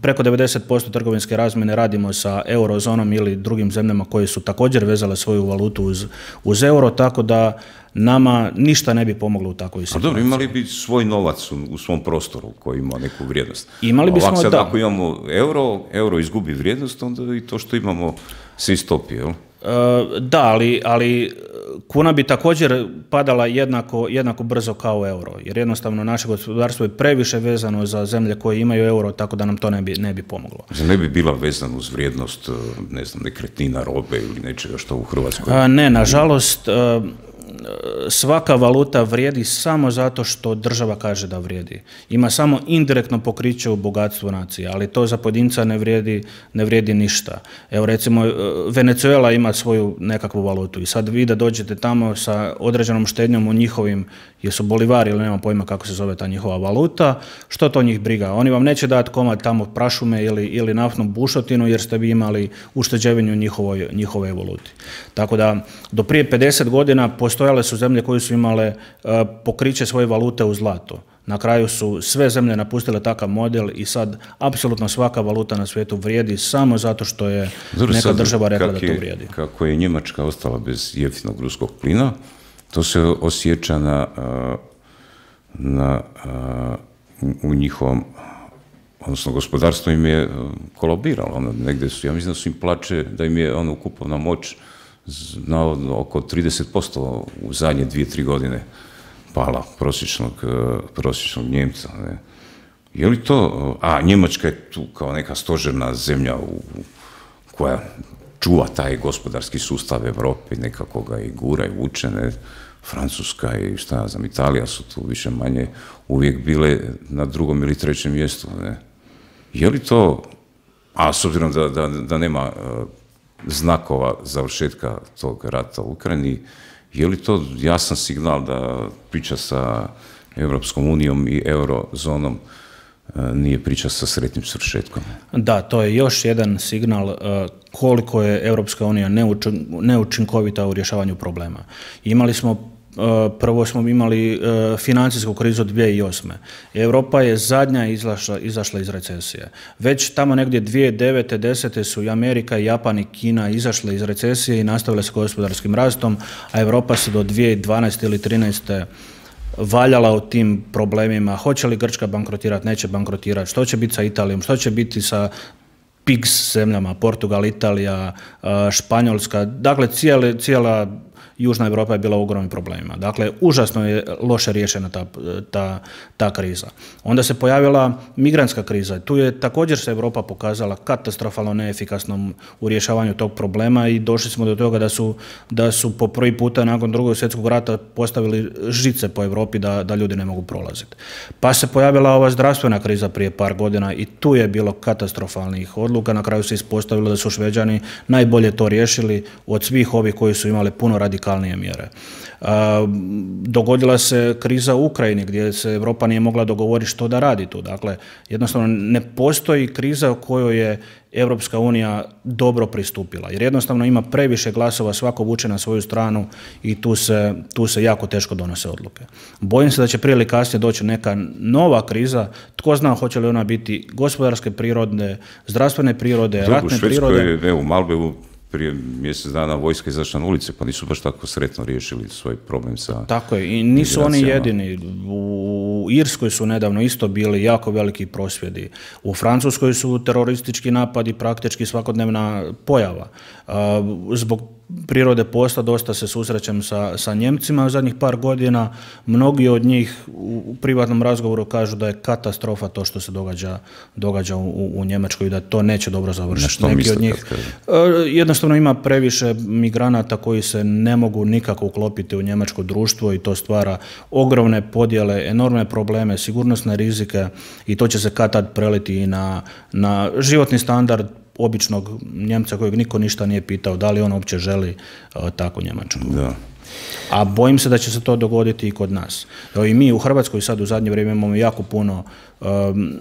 preko devedeset posto trgovinske razmjene radimo sa eurozonom ili drugim zemljama koje su također vezale svoju valutu uz, uz euro, tako da nama ništa ne bi pomoglo u takvoj situaciji. A dobro, imali bi svoj novac u, u svom prostoru koji ima neku vrijednost. Imali bismo, ovako sad, da. Ako imamo euro, euro izgubi vrijednost, onda i to što imamo se istopi, jel? E, da, ali, ali kuna bi također padala jednako, jednako brzo kao euro, jer jednostavno naše gospodarstvo je previše vezano za zemlje koje imaju euro, tako da nam to ne bi, ne bi pomoglo. Ne bi bila vezana uz vrijednost, ne znam, nekretnina, robe ili nečega što u Hrvatskoj? A, ne, nažalost, svaka valuta vrijedi samo zato što država kaže da vrijedi. Ima samo indirektno pokriće u bogatstvu nacije, ali to za pojedinca ne vrijedi, ne vrijedi ništa. Evo recimo, Venezuela ima svoju nekakvu valutu i sad vi da dođete tamo sa određenom štednjom u njihovim, jesu bolivari ili nema pojma kako se zove ta njihova valuta, što to njih briga? Oni vam neće dati komad tamo prašume ili, ili naftnu bušotinu jer ste vi imali ušteđevinu njihovoj, njihovoj valuti. Tako da do prije pedeset godina postojale su zemlje koje su imale uh, pokriće svoje valute u zlato. Na kraju su sve zemlje napustile takav model i sad apsolutno svaka valuta na svijetu vrijedi samo zato što je Dobro, neka država rekla da to vrijedi. Je, kako je Njemačka ostala bez jeftinog ruskog plina, to se osjeća na, na, u njihovom, odnosno gospodarstvo im je kolabiralo. Ono, negdje su, ja mislim da su im plaće, da im je ono kupovna moć na oko trideset posto u zadnje dvije, tri godine pala prosječnog, prosječnog Njemca. Ne. Je li to, a Njemačka je tu kao neka stožerna zemlja u, koja čuva taj gospodarski sustav Europe, nekako ga i gura i vuče, ne. Francuska i šta ja znam, Italija su tu više manje uvijek bile na drugom ili trećem mjestu. Ne. Je li to, a s obzirom da, da, da nema znakova završetka tog rata u Ukrajini, je li to jasan signal da priča sa Europskom unijom i eurozonom nije priča sa sretnim svršetkom? Da, to je još jedan signal koliko je Europska unija neučinkovita u rješavanju problema. Imali smo Prvo smo imali financijsku krizu dvije tisuće osme. Europa je zadnja izašla, izašla iz recesije. Već tamo negdje dvije tisuće devete. desete su i Amerika, Japan i Kina izašle iz recesije i nastavile s gospodarskim rastom, a Europa se do dvije tisuće dvanaeste ili trinaeste valjala u tim problemima. Hoće li Grčka bankrotirati, neće bankrotirati, što će biti sa Italijom, što će biti sa P I G S zemljama, Portugal, Italija, Španjolska, dakle cijela, cijela Južna Europa je bila u ogromnim problemima. Dakle, užasno je loše riješena ta, ta, ta kriza. Onda se pojavila migrantska kriza. Tu je također se Europa pokazala katastrofalno neefikasnom u rješavanju tog problema i došli smo do toga da su, da su po prvi puta nakon drugog svjetskog rata postavili žice po Europi da, da ljudi ne mogu prolaziti. Pa se pojavila ova zdravstvena kriza prije par godina i tu je bilo katastrofalnih odluka. Na kraju se ispostavilo da su Šveđani najbolje to riješili od svih ovih koji su imali puno radikalnije radikalnije mjere. Dogodila se kriza u Ukrajini gdje se Europa nije mogla dogovoriti što da radi tu. Dakle, jednostavno ne postoji kriza u kojoj je Europska unija dobro pristupila, jer jednostavno ima previše glasova, svako vuče na svoju stranu i tu se, tu se jako teško donose odluke. Bojim se da će prije ili kasnije doći neka nova kriza, tko zna hoće li ona biti gospodarske prirode, zdravstvene prirode, Drugu, ratne Švedskoj, prirode. Evo, u Malbevu prije mjesec dana vojska izašla na ulice, pa nisu baš tako sretno riješili svoj problem sa... Tako je, i nisu oni jedini. U Irskoj su nedavno isto bili jako veliki prosvjedi. U Francuskoj su teroristički napadi praktički svakodnevna pojava. Zbog prirode posla dosta se susrećem sa, sa Njemcima u zadnjih par godina. Mnogi od njih u privatnom razgovoru kažu da je katastrofa to što se događa, događa u, u Njemačkoj i da to neće dobro završiti. Što Neki od njih jednostavno ima previše migranata koji se ne mogu nikako uklopiti u njemačko društvo i to stvara ogromne podjele, enormne probleme, sigurnosne rizike i to će se kad tad preliti i na, na životni standard običnog Njemca kojeg niko ništa nije pitao da li on uopće želi uh, takvu Njemačku. Da. A bojim se da će se to dogoditi i kod nas. Evo i mi u Hrvatskoj sad u zadnje vrijeme imamo jako puno um,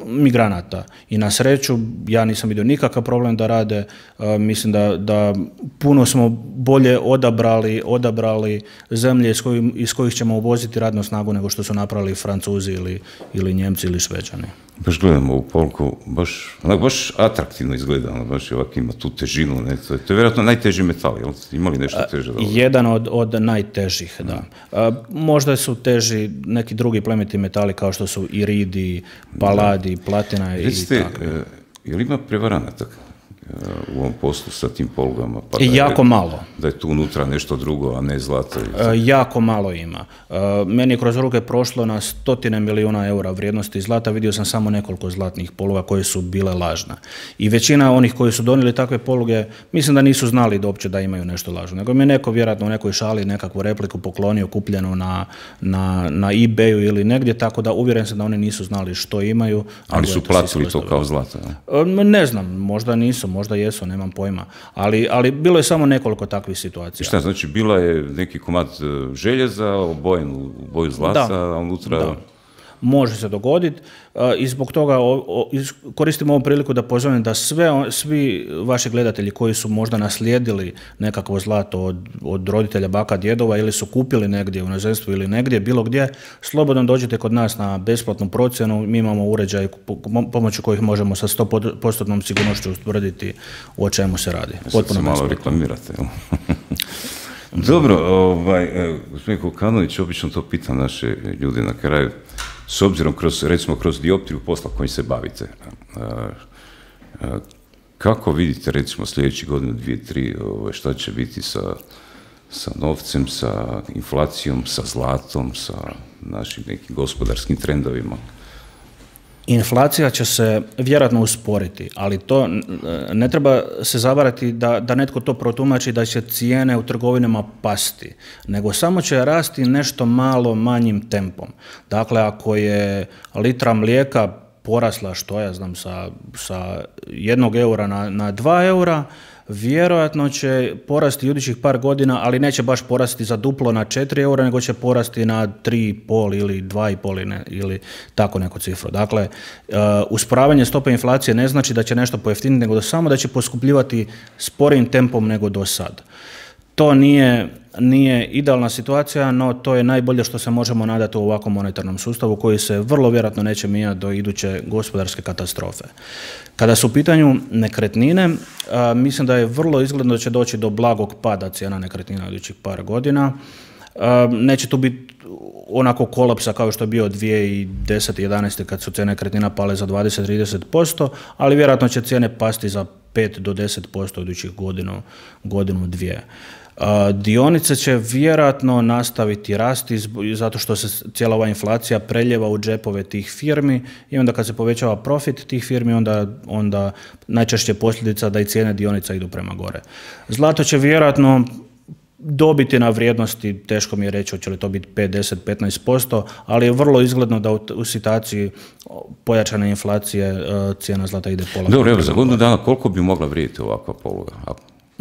migranata i na sreću ja nisam vidio nikakav problem da rade, uh, mislim da, da puno smo bolje odabrali, odabrali zemlje iz, kojim, iz kojih ćemo uvoziti radnu snagu nego što su napravili Francuzi ili, ili Njemci ili Šveđani. Baš gledamo ovu polku, baš, onak, baš atraktivno izgleda, ono, baš ovak ima tu težinu, ne? To, je, to je vjerojatno najteži metal, jel? Ima li nešto teže? Da Jedan od, od najtežih, da. Mm. A, možda su teži neki drugi plemeniti metali kao što su iridi, paladi, da. Platina i Recite, tako. E, je li ima prevaranata u ovom poslu sa tim polugama? Pa da jako je, malo. Da je tu unutra nešto drugo, a ne zlato? E, jako malo ima. E, meni je kroz ruke prošlo na stotine milijuna eura vrijednosti zlata, vidio sam samo nekoliko zlatnih poluga koje su bile lažne. I većina onih koji su donijeli takve poluge, mislim da nisu znali da uopće da imaju nešto lažno. Nego mi je neko vjerojatno u nekoj šali nekakvu repliku poklonio, kupljenu na, na, na eBayu ili negdje, tako da uvjeren sam da oni nisu znali što imaju. Ali su platili to kao zlato? Ne? ne znam, možda nisu, možda jesu, nemam pojma. Ali, ali bilo je samo nekoliko takvih situacija. I šta, znači bila je neki komad željeza obojen u boju zlata, da, a unutra... Da. Može se dogoditi i zbog toga koristim ovu priliku da pozovem da sve, svi vaši gledatelji koji su možda naslijedili nekakvo zlato od, od roditelja, baka, djedova ili su kupili negdje u inozemstvu ili negdje, bilo gdje, slobodno dođite kod nas na besplatnu procjenu. Mi imamo uređaj pomoću kojih možemo sa sto posto sigurnošću ustvrditi o čemu se radi. Potpuno se malo reklamirate. Dobro, ovaj, gospodin Kokanović, obično to pitam naše ljude na kraju. S obzirom, kroz, recimo, kroz dioptriju posla kojim se bavite, a, a, kako vidite, recimo, sljedeći godinu, dvije, tri, ovaj, šta će biti sa, sa novcem, sa inflacijom, sa zlatom, sa našim nekim gospodarskim trendovima? Inflacija će se vjerojatno usporiti, ali to ne treba se zavarati da, da netko to protumači da će cijene u trgovinama pasti, nego samo će rasti nešto malo manjim tempom. Dakle, ako je litra mlijeka porasla, što ja znam, sa, sa jednog eura na, na dva eura, vjerojatno će porasti idućih par godina, ali neće baš porasti za duplo na četiri eura, nego će porasti na tri i pol ili dva i pol ili tako neku cifru. Dakle, uh, usporavanje stope inflacije ne znači da će nešto pojeftiniti, nego da samo da će poskupljivati sporijim tempom nego do sad. To nije, nije idealna situacija, no to je najbolje što se možemo nadati u ovakvom monetarnom sustavu koji se vrlo vjerojatno neće mijenjati do iduće gospodarske katastrofe. Kada su u pitanju nekretnine, a, mislim da je vrlo izgledno da će doći do blagog pada cijena nekretnina u idućih par godina. A, neće tu biti onako kolapsa kao što je bio dvije tisuće desete. jedanaeste. kad su cijene nekretnina pale za dvadeset do trideset posto, ali vjerojatno će cijene pasti za pet do deset posto u idućih godinu, godinu dvije. Uh, dionice će vjerojatno nastaviti rasti zato što se cijela ova inflacija preljeva u džepove tih firmi i onda kad se povećava profit tih firmi, onda, onda najčešće posljedica da i cijene dionica idu prema gore. Zlato će vjerojatno dobiti na vrijednosti, teško mi je reći hoće li to biti pet, deset, petnaest posto, ali je vrlo izgledno da u, u situaciji pojačane inflacije uh, cijena zlata ide pola. Dobro, evo, za godinu dana koliko bi mogla vrijediti ovakva poluga?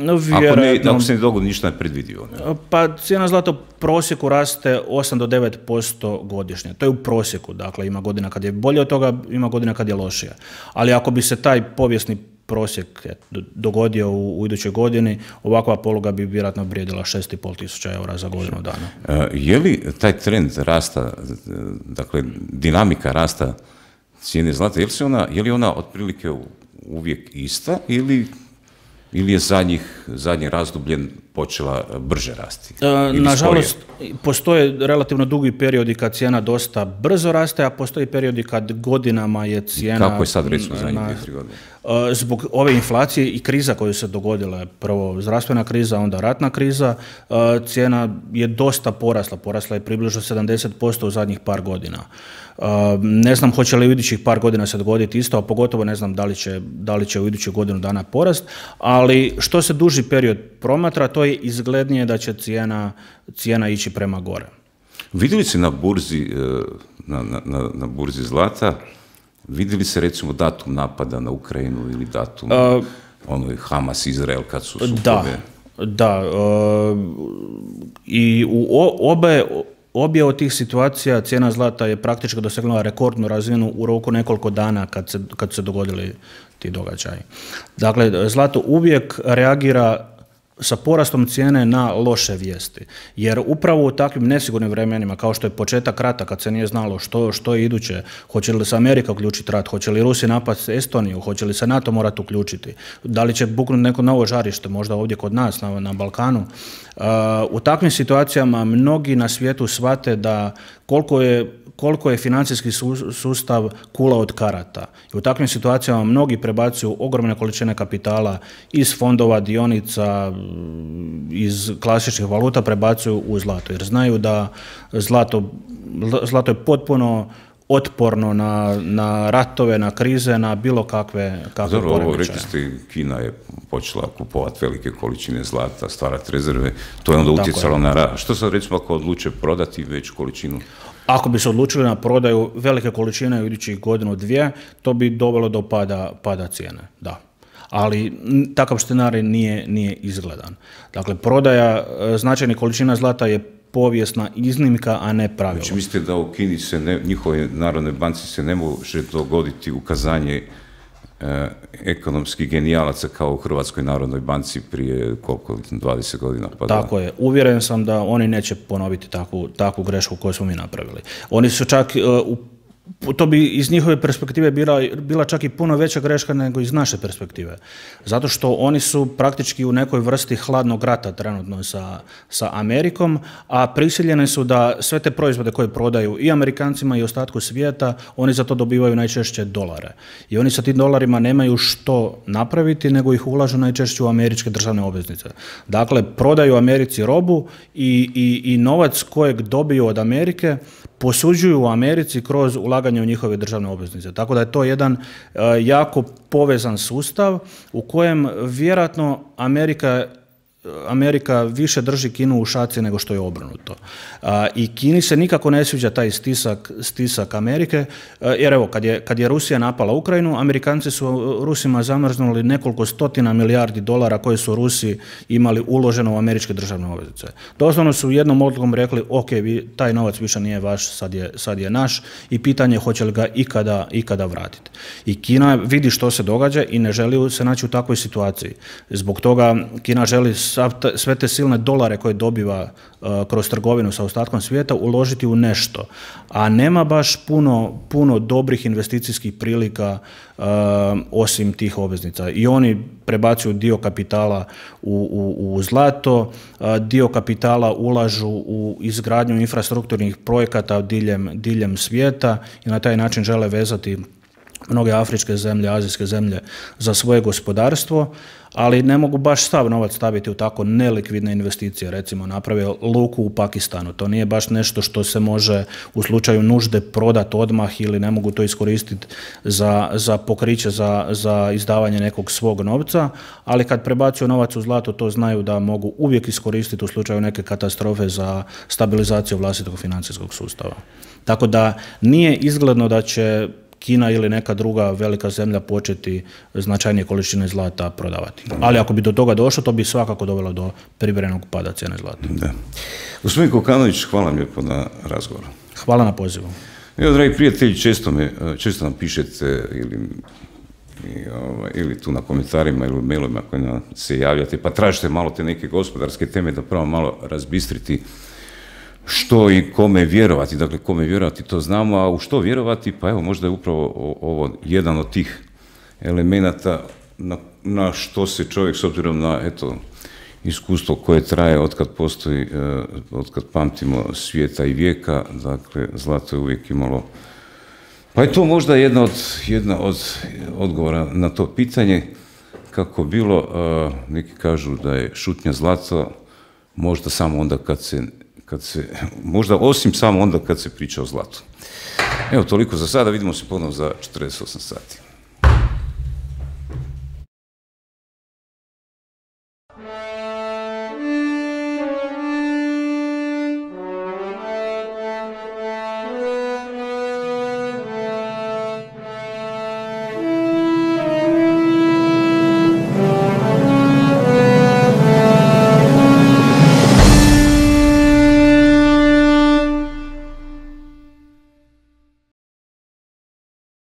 No, ako, ne, ako se ne dogodi ništa nepredvidivo. Ne? Pa cijena zlata u prosjeku raste osam do devet posto godišnje. To je u prosjeku, dakle ima godina kad je bolje od toga, ima godina kad je lošije. Ali ako bi se taj povijesni prosjek dogodio u, u idućoj godini, ovakva poluga bi vjerojatno vrijedila šest i pol tisuća eura za godinu dana. E, je li taj trend rasta, dakle dinamika rasta cijene zlata, je li, se ona, je li ona otprilike uvijek ista ili ili je zadnjih, zadnji razdoblje počela brže rasti? E, nažalost, postoje relativno dugi periodi kad cijena dosta brzo raste, a postoji periodi kad godinama je cijena... Kako je sad recimo zadnjih dvije, tri godine? E, zbog ove inflacije i kriza koju se dogodila, prvo zdravstvena kriza, onda ratna kriza, e, cijena je dosta porasla, porasla je približno sedamdeset posto u zadnjih par godina. Uh, ne znam hoće li u idućih par godina se dogoditi isto, a pogotovo ne znam da li će, da li će u idućih godinu dana porast, ali što se duži period promatra, to je izglednije da će cijena, cijena ići prema gore. Vidjeli se na burzi, na, na, na burzi zlata, vidjeli se recimo datum napada na Ukrajinu ili datum uh, ono Hamas, Izrael kad su sukobe? Da, da uh, i u obe Obje od tih situacija cijena zlata je praktički dosegnula rekordnu razinu u roku nekoliko dana kad se, kad se dogodili ti događaji. Dakle, zlato uvijek reagira sa porastom cijene na loše vijesti. Jer upravo u takvim nesigurnim vremenima, kao što je početak rata, kad se nije znalo što, što je iduće, hoće li se Amerika uključiti rat, hoće li Rusi napasti Estoniju, hoće li se NATO morati uključiti, da li će buknuti neko novo žarište, možda ovdje kod nas, na, na Balkanu. Uh, u takvim situacijama mnogi na svijetu shvate da koliko je koliko je financijski sustav kula od karata. I u takvim situacijama mnogi prebacuju ogromne količine kapitala iz fondova, dionica, iz klasičnih valuta prebacuju u zlato. Jer znaju da zlato, zlato je potpuno otporno na, na ratove, na krize, na bilo kakve, kakve Dobro, ovo rekli ste, Kina je počela kupovati velike količine zlata, stvarati rezerve, to je onda utjecalo na rast. Što sad recimo ako odluče prodati veću količinu? Ako bi se odlučili na prodaju velike količine u idućih godinu dvije, to bi dovelo do pada, pada cijene, da. Ali takav scenarij nije, nije izgledan. Dakle, prodaja značajnih količina zlata je povijesna iznimka, a ne pravilo. Znači, mislite da u Kini se ne, njihove narodne banci se ne može dogoditi ukazanje e, ekonomskih genijalaca kao u Hrvatskoj narodnoj banci prije koliko, dvadeset godina? Pa Tako da. je. Uvjeren sam da oni neće ponoviti takvu, takvu grešku koju smo mi napravili. Oni su čak uh, u to bi iz njihove perspektive bila, bila čak i puno veća greška nego iz naše perspektive. Zato što oni su praktički u nekoj vrsti hladnog rata trenutno sa, sa Amerikom, a prisiljeni su da sve te proizvode koje prodaju i Amerikancima i ostatku svijeta, oni za to dobivaju najčešće dolare. I oni sa tim dolarima nemaju što napraviti, nego ih ulažu najčešće u američke državne obveznice. Dakle, prodaju Americi robu i, i, i novac kojeg dobiju od Amerike posuđuju u Americi kroz ulaganje u njihove državne obveznice. Tako da je to jedan uh, jako povezan sustav u kojem vjerojatno Amerika Amerika više drži Kinu u šaci nego što je obrnuto. A, I Kini se nikako ne sviđa taj stisak, stisak Amerike, a, jer evo, kad je, kad je Rusija napala Ukrajinu, Amerikanci su Rusima zamrznuli nekoliko stotina milijardi dolara koje su Rusi imali uloženo u američke državne obveznice. Doslovno su jednom odlukom rekli, ok, vi, taj novac više nije vaš, sad je, sad je naš i pitanje je hoće li ga ikada, ikada vratiti. I Kina vidi što se događa i ne želi se naći u takvoj situaciji. Zbog toga Kina želi sve te silne dolare koje dobiva uh, kroz trgovinu sa ostatkom svijeta uložiti u nešto. A nema baš puno, puno dobrih investicijskih prilika uh, osim tih obveznica. I oni prebacuju dio kapitala u, u, u zlato, uh, dio kapitala ulažu u izgradnju infrastrukturnih projekata diljem, diljem svijeta i na taj način žele vezati mnoge afričke zemlje, azijske zemlje za svoje gospodarstvo, ali ne mogu baš sav novac staviti u tako nelikvidne investicije, recimo naprave luku u Pakistanu. To nije baš nešto što se može u slučaju nužde prodati odmah ili ne mogu to iskoristiti za, za pokriće, za, za izdavanje nekog svog novca, ali kad prebacuju novac u zlato, to znaju da mogu uvijek iskoristiti u slučaju neke katastrofe za stabilizaciju vlastitog financijskog sustava. Tako da nije izgledno da će Kina ili neka druga velika zemlja početi značajnije količine zlata prodavati. Ali ako bi do toga došlo, to bi svakako dovelo do privremenog pada cijene zlata. Da. Gospodin Kokanović, hvala vam lijepo na razgovoru. Hvala na pozivu. Evo, dragi prijatelji, često, me, često nam pišete ili, i, ovaj, ili tu na komentarima ili u mailovima koji nam se javljate, pa tražite malo te neke gospodarske teme da pravo malo razbistriti što i kome vjerovati. Dakle, kome vjerovati to znamo, a u što vjerovati, pa evo, možda je upravo ovo jedan od tih elemenata na, na što se čovjek, s obzirom na, eto, iskustvo koje traje otkad postoji, otkad pamtimo svijeta i vijeka, dakle, zlato je uvijek imalo. Pa je to možda jedna od, jedna od odgovora na to pitanje, kako bilo, neki kažu da je šutnja zlato, možda samo onda kad se, kad se, možda osim samo onda kad se priča o zlatu. Evo, toliko za sada, vidimo se ponovno za četrdeset osam sati.